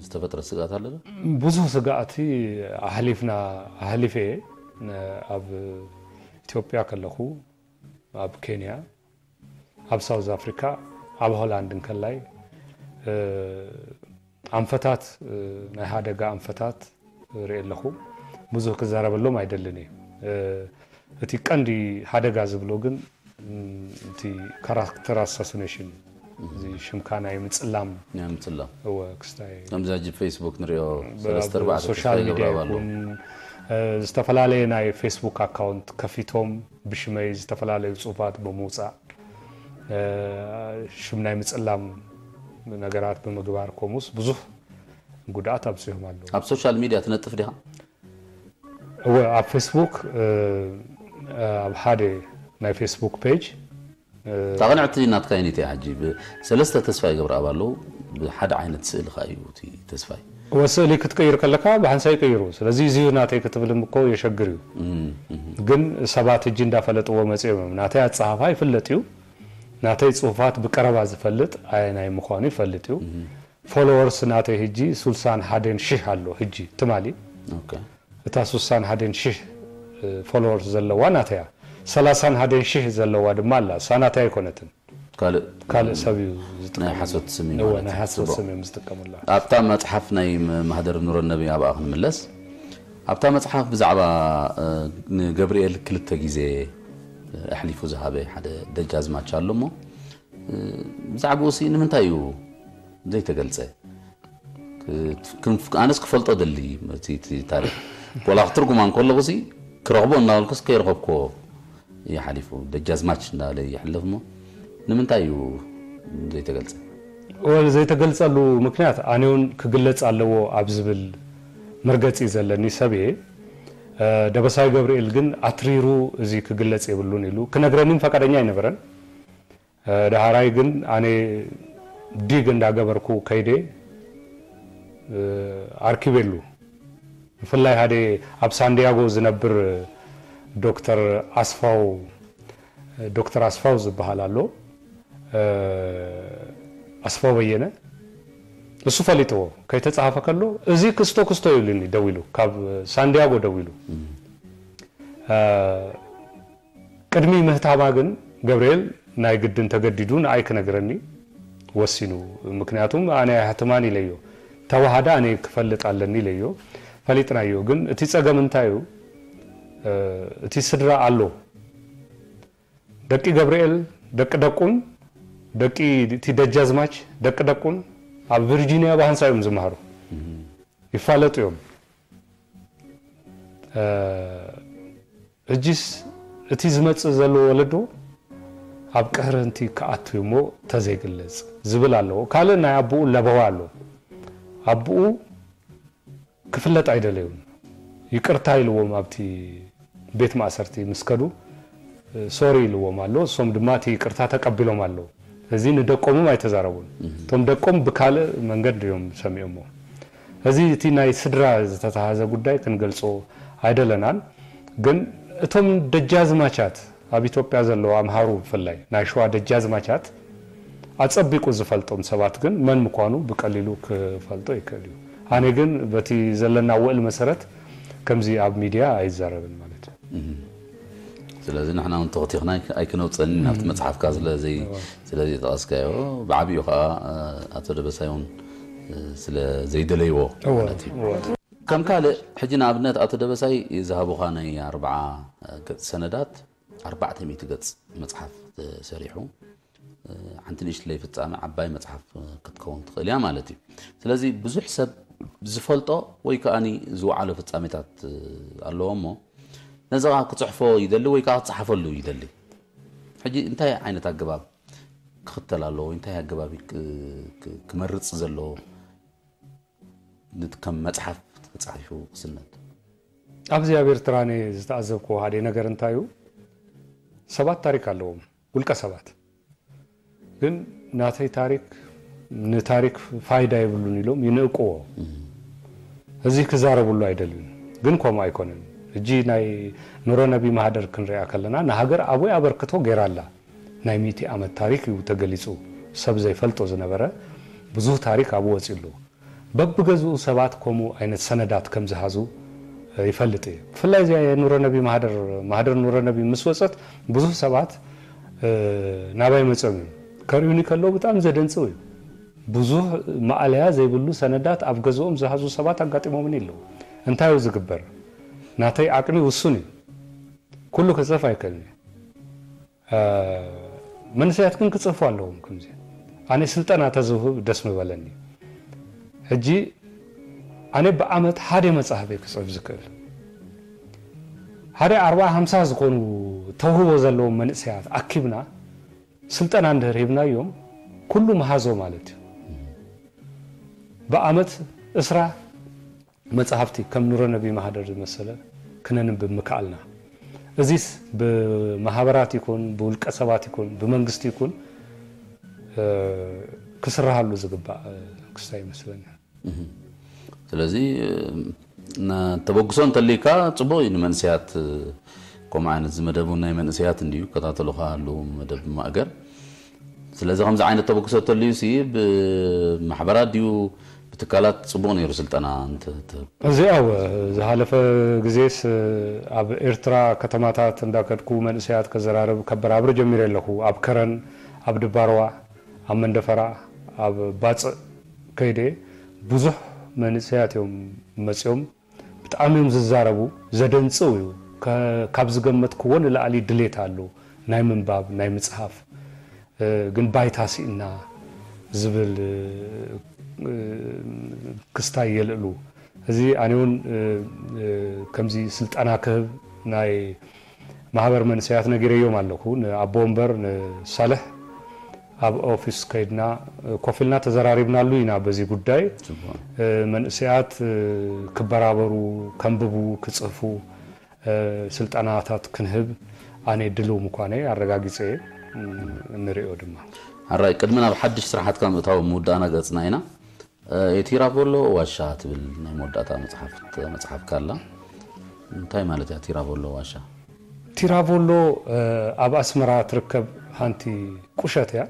ዝተፈጥረ ስግኣት ኣሎ ዶ? ብዙሕ ስጋኣት ኣሕሊፍና ኣሕሊፈ እየ። ኣብ ኢትዮጵያ ከለኹ፣ ኣብ ኬንያ፣ ኣብ ሳውዝ ኣፍሪካ፣ ኣብ ሆላንድ እንከላይ ኣንፈታት፣ ናይ ሓደጋ ኣንፈታት ርኢ ኣለኹ። ብዙሕ ክዛረበሎም ኣይደልን እየ። እቲ ቀንዲ ሓደጋ ዝብሎ ግን እቲ ካራክተር ኣሳሲኔሽን፣ እዚ ሽምካ ናይ ምፅላም፣ ናይ ምፅላም እወ ክስታይ ከምዚ ሕጂ ፌስቡክ ንሪኦ ሰለስተ ኣርባዕተ ሶሻል ተስፋ ሚዲያ ይገብር ኣሎ። ይኹን፣ ዝተፈላለየ ናይ ፌስቡክ ኣካውንት ከፊቶም ብሽመይ ዝተፈላለዩ ፅሁፋት ብምውፃእ፣ ሽም ናይ ምፅላም ነገራት ብምግባር፣ ከምኡስ ብዙሕ ጉድኣት ኣብፅዮም ኣለዉ። ኣብ ሶሻል ሚዲያ ትነጥፍ ዲኻ? እወ፣ ኣብ ፌስቡክ፣ ኣብ ሓደ ናይ ፌስቡክ ፔጅ፣ እታ ቅንዕቲ ናትካ ይኒት እያ። ሕጂ ሰለስተ ተስፋ ይገብር ኣብ ኣለዉ። ብሓደ ዓይነት ስእሊ ከ እዩ እቲ ተስፋይ። እወ፣ ስእሊ ክትቀይር ከለካ ብሓንሳይ ይቀይሩ። ስለዚ እዚ እዩ ናተይ ክትብል እኮ የሸግር እዩ። ግን ሰባት ሕጂ እንዳፈለጥዎ መፅኦም እዮም። ናተይ ኣፀሃፋ ይፍለጥ እዩ። ናተይ ፅሁፋት ብቀረባ ዝፈልጥ ኣየናይ ምዃኑ ይፈልጥ እዩ። ፎሎወርስ ናተይ ሕጂ ሱሳን ሓደን ሽሕ ኣሎ። ሕጂ ትማሊ ኦኬ። እታ ሱሳን ሓደን ሽሕ ፎሎወርስ ዘለዋ ናተያ፣ ሰላሳን ሓደን ሽሕ ዘለዋ ድማ ኣላ። እሳ ናተይ ኣይኮነትን። ካልእ ካልእ ሰብ እዩ ናይ ዝጥቀመላ። ሓሶት ስም እዩ እወ፣ ማለት ናይ እዩ። ሓሶት ጽቡቕ። ስም እዮም ዝጥቀሙላ። ኣብታ መጽሓፍ ናይ ም- ማህደር ኑረ ነቢ ኣብኣ ክንምለስ። ኣብታ መጽሓፍ ብዛዕባ እ፣ ንገብርኤል ክልተ ግዜ ኣሕሊፉ ዝሃበ ሓደ ደጃዝማች ኣሎ እሞ፣ እ፣ ብዛዕባኡ ሲ ንምንታይ እዩ ዘይተገልጸ? ክ- ክንፍ- ኣነስ ክፈልጦ ደሊ እቲ እቲ ታሪክ። ወላ ክትርጉማ እንከለኹ ሲ ክረኽቦ እናበልኩስ ከይረኸብኮ ይሓሊፉ። ደጃዝማች እናበለ ይሕለፍ እሞ ንምንታይ እዩ ዘይተገልጸ? ወል ዘይተገልጸሉ ምክንያት ኣነ እውን ክግለጽ ኣለዎ ኣብ ዝብል መርገጺ ዘለኒ ሰብ እየ። ደበሳይ ገብርኤል ግን ኣትሪሩ እዚ ክግለጽ የብሉን ኢሉ ክነግረኒን ፈቃደኛ ኣይነበረን። ደሃራይ ግን ኣነ ዲግ እንዳገበርኩ ከይደ ኣርኪበሉ። ብፍላይ ሓደ ኣብ ሳንዲያጎ ዝነብር ዶክተር ኣስፋው ዶክተር ኣስፋው ዝበሃል ኣሎ። ኣስፋው በየነ፣ እሱ ፈሊጥዎ። ከይተጻሓፈ ከሎ እዚ ክስቶ ክስቶ ይብልኒ ደዊሉ፣ ካብ ሳንዲያጎ ደዊሉ። ቅድሚ ምህታማ ግን ገብርኤል ናይ ግድን ተገዲዱ ንኣይ ክነግረኒ ወሲኑ። ምክንያቱም ኣነ ኣይሕትማን ኢለዮ። ተዋሃደ ኣነ ክፈልጥ ኣለኒ ኢለዮ። ፈሊጥናዮ። ግን እቲ ጸገም እንታይ እዩ? እቲ ስድራ ኣሎ። ደቂ ገብርኤል፣ ደቂ ደቁን፣ ደቂ እቲ ደጃዝማች፣ ደቂ ደቁን ኣብ ቪርጂኒያ ብሃንሳ እዮም ዝመሃሩ። ይፋለጡ እዮም። ሕጂስ እቲ ዝመጽእ ዘሎ ወለዶ ኣብ ቅህረንቲ ክኣቱ እሞ ተዘይግለጽ ዝብል ኣለዎ። ካልእ ናይ ኣቦኡ ለበዋ ኣሎ። ኣቦኡ ክፍለጥ ኣይደለዩን። ይቅርታ ኢልዎም ኣብቲ ቤት ማእሰርቲ ምስ ከዱ፣ ሶሪ ኢልዎም ኣሎ። እሶም ድማ እቲ ይቅርታ ተቀቢሎም ኣለዉ። እዚ ንደቆምም ኣይተዛረቡን። እቶም ደቆም ብካልእ መንገድ እዮም ሰሚኦሞ። እዚ እቲ ናይ ስድራ ዝተተሃዘ ጉዳይ ክንገልጾ ኣይደለናን። ግን እቶም ደጃዝማቻት ኣብ ኢትዮጵያ ዘለዉ ኣምሃሩ ብፍላይ ናይ ሸዋ ደጃዝማቻት ኣጸቢቁ ዝፈልጦም ሰባት ግን መን ምዃኑ ብቀሊሉ ክፈልጦ ይክእል እዩ። ኣነ ግን በቲ ዘለና ውዕል መሰረት ከምዚ ኣብ ሚድያ ኣይዛረብን ማለት እዩ። ስለዚ ንሕና እውን ተኽቲኽና ኣይክ- ኣይክነውፀን ናብቲ መፅሓፍካ ስለዘይ ስለዘይጠቐስካዮ ብዓብኡ ከዓ ኣቶ ደበሳይ እውን ስለ ዘይደለይዎ ማለት እዩ። ከም ካልእ ሕጂ ንኣብነት ኣቶ ደበሳይ ዝሃቡኻ ናይ ኣርብዓ ገፅ ሰነዳት ኣርባዕተ ሚእቲ ገፅ መፅሓፍ ተሰሪሑ ሓንቲ ንእሽትለይ ፍጻሜ ዓባይ መጽሓፍ ክትከውን ትኽእል እያ ማለት እዩ። ስለዚ ብዙሕ ሰብ ዝፈልጦ ወይ ከኣኒ ዝወዓሎ ፍጻሜታት ኣለዎ እሞ ነዚ ከዓ ክጽሕፎ ይደሊ ወይ ከዓ ክጸሓፈሉ ይደሊ። ሕጂ እንታይ ዓይነት ኣገባብ ክኽተል ኣለዎ? እንታይ ኣገባብ እዩ ክ- ክ- ክመርጽ ዘለዎ? ነት ከም መጽሓፍ ተጻሒፉ ክስነድ ኣብዚ ኣብ ኤርትራ ኣነ ዝተኣዘብክዎ ሓደ ነገር እንታይ እዩ፣ ሰባት ታሪክ ኣለዎም፣ ውልቀ ሰባት ግን ናተይ ታሪክ ንታሪክ ፋይዳ የብሉን ኢሎም ይንእቅዎ። እዚ ክዛረብሉ ኣይደልን፣ ግን ከምኡ ኣይኮነን። ሕጂ ናይ ኑረ ነቢ ማህደር ክንሪኣ ከለና ንሃገር ዓብይ ኣበርክቶ ገይራ ኣላ። ናይ ሚእቲ ዓመት ታሪክ እዩ ተገሊጹ፣ ሰብ ዘይፈልጦ ዝነበረ ብዙህ ታሪክ ኣብኡ ወጺኡ ኣሎ። በብገዝኡ ሰባት ከምኡ ዓይነት ሰነዳት ከም ዝሃዙ ይፈልጥ እየ። ብፍላይ እዚኣ የኑረ ነቢ ማህደር፣ ማህደር ኑረ ነቢ ምስ ወጸት ብዙህ ሰባት ናባይ መጾም እዮም። ከርእዩኒ ከለዉ ብጣዕሚ ዘደንጽው እዩ። ብዙህ ማእለያ ዘይብሉ ሰነዳት ኣብ ገዝኦም ዝሃዙ ሰባት ኣጋጢሞምኒ ኣለዉ። እንታይ እዩ ዝግበር? ናተይ ዓቅሚ ውሱን እዩ። ኩሉ ክጽሕፍ ኣይክእልን እየ። መንእሰያት ግን ክጽሕፉ ኣለዎም። ከምዚ ኣነ ስልጠና ተዝህብ ደስ ምበለኒ። ሕጂ ኣነ ብዓመት ሓደ መጽሓፍ እየ ክጽሕፍ ዝክእል። ሓደ ኣርባዓ ሓምሳ ዝኾኑ ተውህቦ ዘለዎም መንእሰያት ኣኪብና ስልጠና እንድህር ሂብናዮም ኩሉ መሃዞ ማለት እዩ። ብዓመት እስራ መጽሓፍቲ ከም ኑረ ነቢ ማህደር ዝመሰለ ክነንብብ ምክኣልና። እዚስ ብማህበራት ይኩን ብውልቀ ሰባት ይኩን ብመንግስቲ ይኩን ክስራሃሉ ዝግባእ ክስታይ ይመስለኒ። ስለዚ ተበግሶ እንተልይካ ጽቡቅ እዩ። ንመንስያት ከምኡ ዓይነት ዝመደቡ ናይ መንእሰያት እንድዩ ከታተሉካ ኣለዉ መደብ ማእገር። ስለዚ ከምዚ ዓይነት ተበግሶ ተልዩ ሲ ብማሕበራት ድዩ ብትካላት ጽቡቅ ነይሩ ስልጠና እንተ እዚኣ ዝሃለፈ ግዜስ ኣብ ኤርትራ ከተማታት እንዳከድኩ መንእሰያት ከዘራርብ ከበራብር ጀሚረ ኣለኹ። ኣብ ከረን፣ ኣብ ድባርዋ፣ ኣብ መንደፈራ፣ ኣብ ባጽዕ ከይደ ብዙሕ መንእሰያት እዮም መጺኦም። ብጣዕሚ እዮም ዝዛረቡ። ዘደንጽው እዩ። ካብ ዝገመትክዎ ንላዕሊ ድሌት ኣሎ ናይ ምንባብ ናይ ምጽሓፍ። ግን ባይታ ስኢና ዝብል ክስታይ የልዕሉ። እዚ ኣነ እውን ከምዚ ስልጠና ክህብ ናይ ማህበር መንእሰያት ነጊረዮም ኣለኹ። ንኣቦ ወንበር ንሳልሕ ኣብ ኦፊስ ከይድና ኮፍ ኢልና ተዘራሪብናሉ ኢና። በዚ ጉዳይ መንእሰያት ክበራበሩ፣ ከንብቡ፣ ክጽህፉ ስልጠናታት ክንህብ ኣነ ድልው ምኳነይ ኣረጋጊጸ እየ። ንሪኦ ድማ። ኣራይ ቅድሚ ናብ ሓድሽ ስራሓትካ ምእታው ምውዳእና ገጽና ኢና። የቲራቮሎ ዋሻ ትብል ናይ መወዳእታ መጽሓፍካ ኣላ። እንታይ ማለት እያ ቲራቮሎ ዋሻ? ቲራቮሎ ኣብ ኣስመራ ትርከብ ሓንቲ ቁሸት እያ።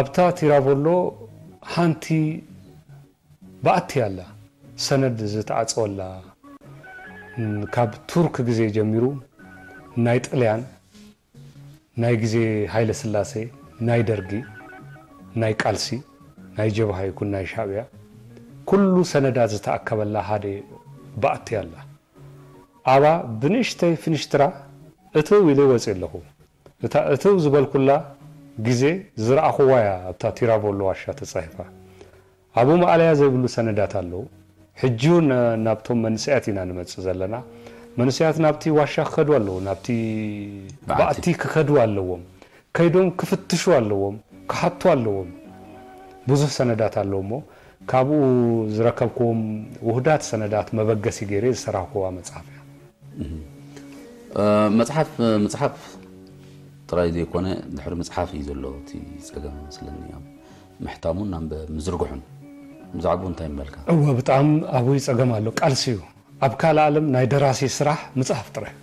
ኣብታ ቲራቮሎ ሓንቲ በኣቲ ኣላ፣ ሰነድ ዝተዓጸወላ። ካብ ቱርክ ግዜ ጀሚሩ ናይ ጥልያን ናይ ግዜ ሃይለ ስላሴ፣ ናይ ደርጊ፣ ናይ ቃልሲ፣ ናይ ጀብሃ ይኩን ናይ ሻዕብያ ኩሉ ሰነዳት ዝተኣከበላ ሓደ በኣቲ ኣላ። ኣባ ብንእሽተይ ፍንሽትራ እትው ኢለ ወፅእ ኣለኹ። እታ እትው ዝበልኩላ ግዜ ዝረኣኹዋ እያ ኣብታ ቲራቮሎ ዋሻ ተፃሂፋ። ኣብኡ ማእለያ ዘይብሉ ሰነዳት ኣለዉ። ሕጂ እውን ናብቶም መንእሰያት ኢና ንመጽእ ዘለና። መንእሰያት ናብቲ ዋሻ ክኸዱ ኣለዎም፣ ናብቲ ባእቲ ክኸዱ ኣለዎም። ከይዶም ክፍትሹ ኣለዎም፣ ክሓቱ ኣለዎም። ብዙሕ ሰነዳት ኣለዉ እሞ ካብኡ ዝረከብክዎም ውህዳት ሰነዳት መበገሲ ገይረ ዝሰራሕክዋ መጽሓፍ እያ። መጽሓፍ ምጽሓፍ ጥራይ ዘይኮነ ድሕሪ ምጽሓፍ እዩ ዘሎ እቲ ጸገም መስለኒ። ምሕታሙን ናብ ምዝርግሑን ብዛዕባኡ እንታይ ምበልካ? እወ ብጣዕሚ ኣብይ ጸገም ኣሎ። ቃልሲ እዩ። ኣብ ካልእ ዓለም ናይ ደራሲ ስራሕ ምጽሓፍ ጥራይ።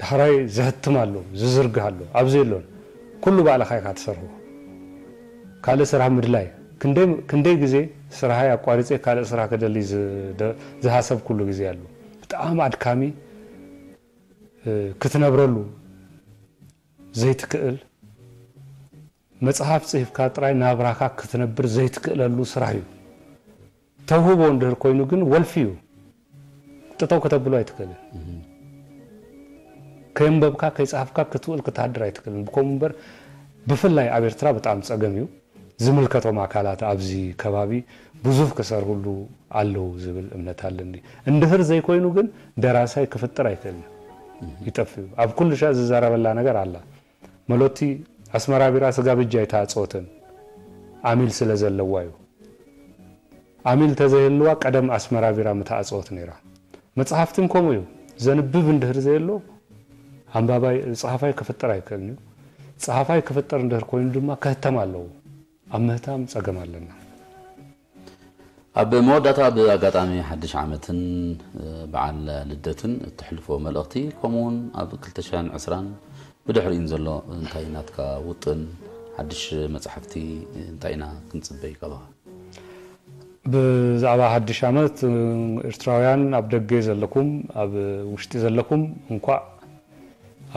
ዳሕራይ ዘህትም ኣሎ፣ ዝዝርግህ ኣሎ። ኣብዚ የሎን። ኩሉ ባዕልኻ ኢኻ ትሰርሖ። ካልእ ስራሕ ምድላይ። ክንደይ ግዜ ስራሓይ ኣቋሪጸ ካልእ ስራሕ ክደሊ ዝሃሰብኩሉ ግዜ ኣሎ። ብጣዕሚ ኣድካሚ ክትነብረሉ ዘይትክእል መጽሓፍ ጽሂፍካ ጥራይ ናብራኻ ክትነብር ዘይትክእለሉ ስራሕ እዩ። ተውህቦ እንድህር ኮይኑ ግን ወልፊ እዩ። ጥጠው ከተብሎ ኣይትክእልን። ከየንበብካ ከይጸሃፍካ ክትውል ክትሃድር ኣይትክእልን። ብከምኡ እምበር ብፍላይ ኣብ ኤርትራ ብጣዕሚ ጸገም እዩ። ዝምልከቶም ኣካላት ኣብዚ ከባቢ ብዙህ ክሰርህሉ ኣለዉ ዝብል እምነት ኣለኒ። እንድህር ዘይኮይኑ ግን ደራሳይ ክፍጥር ኣይክእልን። ይጠፍእ እዩ። ኣብ ኩሉ ሻዕ ዝዛረበላ ነገር ኣላ። መሎቲ ኣስመራ ቢራ ስጋ ብጃ ኣይተኣጸወትን። ዓሚል ስለ ዘለዋ እዩ። ዓሚል ተዘይህልዋ ቀደም ኣስመራ ቢራ ምተኣጸወት ነይራ። መጽሓፍትን ከምኡ እዩ። ዘንብብ እንድህር ዘየሎ ኣንባባይ ጸሓፋይ ክፍጠር ኣይክእልን እዩ። ጸሓፋይ ክፍጠር እንድህር ኮይኑ ድማ ከህተም ኣለዎ። ኣብ ምህታም ጸገም ኣለና። ኣብ መወዳእታ ብኣጋጣሚ ሓድሽ ዓመትን በዓል ልደትን እትሕልፎ መልእኽቲ፣ ከምኡውን ኣብ ክልተ ሽሕን ዕስራን ብድሕሪኡን ዘሎ እንታይ ናትካ ውጥን፣ ሓድሽ መጻሕፍቲ እንታይ ኢና ክንጽበይ ካባኻ? ብዛዕባ ሓድሽ ዓመት፣ ኤርትራውያን ኣብ ደገ ዘለኩም ኣብ ውሽጢ ዘለኩም እንኳዕ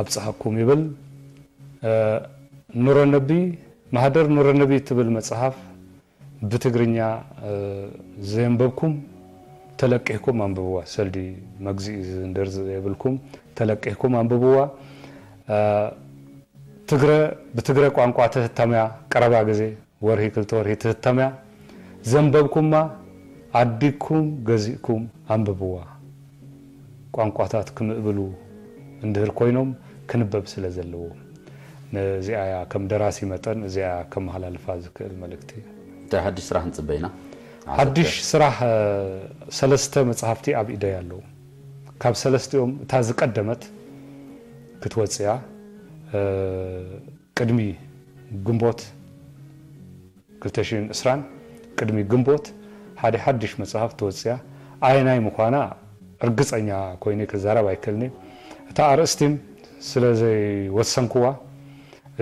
ኣብጽሓኩም ይብል። ኑረነቢ፣ ማህደር ኑረነቢ እትብል መጽሓፍ ብትግርኛ ዘየንበብኩም ተለቂሕኩም ኣንብብዋ። ሰልዲ መግዝኢ ዝንደር ዘየብልኩም ተለቂሕኩም ኣንብብዋ። ትግረ ብትግረ ቋንቋ ትህተምያ፣ ቀረባ ግዜ ወርሂ ክልተ ወርሂ ትህተምያ። ዘንበብኩማ ዓዲግኩም ገዚእኩም ኣንብብዋ። ቋንቋታት ክምእብሉ እንድህር ኮይኖም ክንበብ ስለ ዘለዎ። ነዚኣ እያ ከም ደራሲ መጠን እዚኣ እያ ከመሃላልፋ ዝክእል መልእክቲ። እንታይ ሓድሽ ስራሕ ንጽበይና? ሓድሽ ስራሕ ሰለስተ መጽሓፍቲ ኣብ ኢደይ ኣለዉ። ካብ ሰለስቲኦም እታ ዝቀደመት ክትወጽያ ቅድሚ ግንቦት ክልተ ሽሕን ዕስራን ቅድሚ ግንቦት ሓደ ሓድሽ መጽሓፍ ትወጽያ። ኣየናይ ምዃና ርግጸኛ ኮይነ ክዛረብ ኣይክእልን። እታ ኣርእስቲም ስለ ዘይወሰንክዋ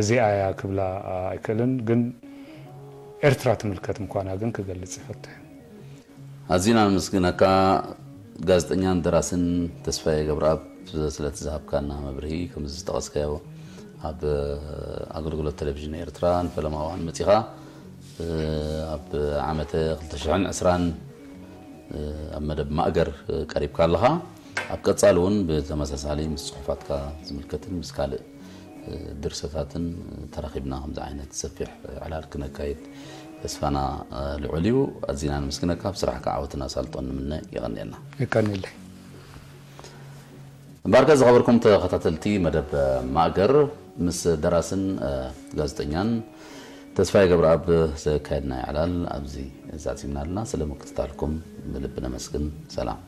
እዚኣ እያ ክብላ ኣይክእልን፣ ግን ኤርትራ ትምልከት ምዃና ግን ክገልጽ ይፈትሕ። ኣዚና ነመስግነካ ጋዜጠኛን ደራስን ተስፋዬ ገብረኣብ ስለቲ ዝሃብካና መብርሂ። ከምዚ ዝጠቐስካዮ ኣብ ኣገልግሎት ቴሌቪዥን ኤርትራ ንፈለማ እዋን መጺኻ ኣብ ዓመተ ክልተ ሽሕን ዕስራን ኣብ መደብ ማእገር ቀሪብካ ኣለኻ። ኣብ ቀጻሊ እውን ብተመሳሳሊ ምስ ጽሑፋትካ ዝምልከትን ምስ ካልእ ድርሰታትን ተራኺብና ከምዚ ዓይነት ሰፊሕ ዕላል ክነካይድ ተስፋና ልዑል እዩ። ኣዚና ነመስግነካ። ኣብ ስራሕካ ዓወትን ኣሳልጦን ንምነ። የቐንየልና። የቀንየለይ። እምበኣርከ ዝኸበርኩም ተኸታተልቲ መደብ ማእገር ምስ ደራስን ጋዜጠኛን ተስፋዬ ገብረኣብ ዘካየድናዮ ዕላል ኣብዚ ዛዚምና ኣለና። ስለ ምክትታልኩም ብልቢ ነመስግን። ሰላም።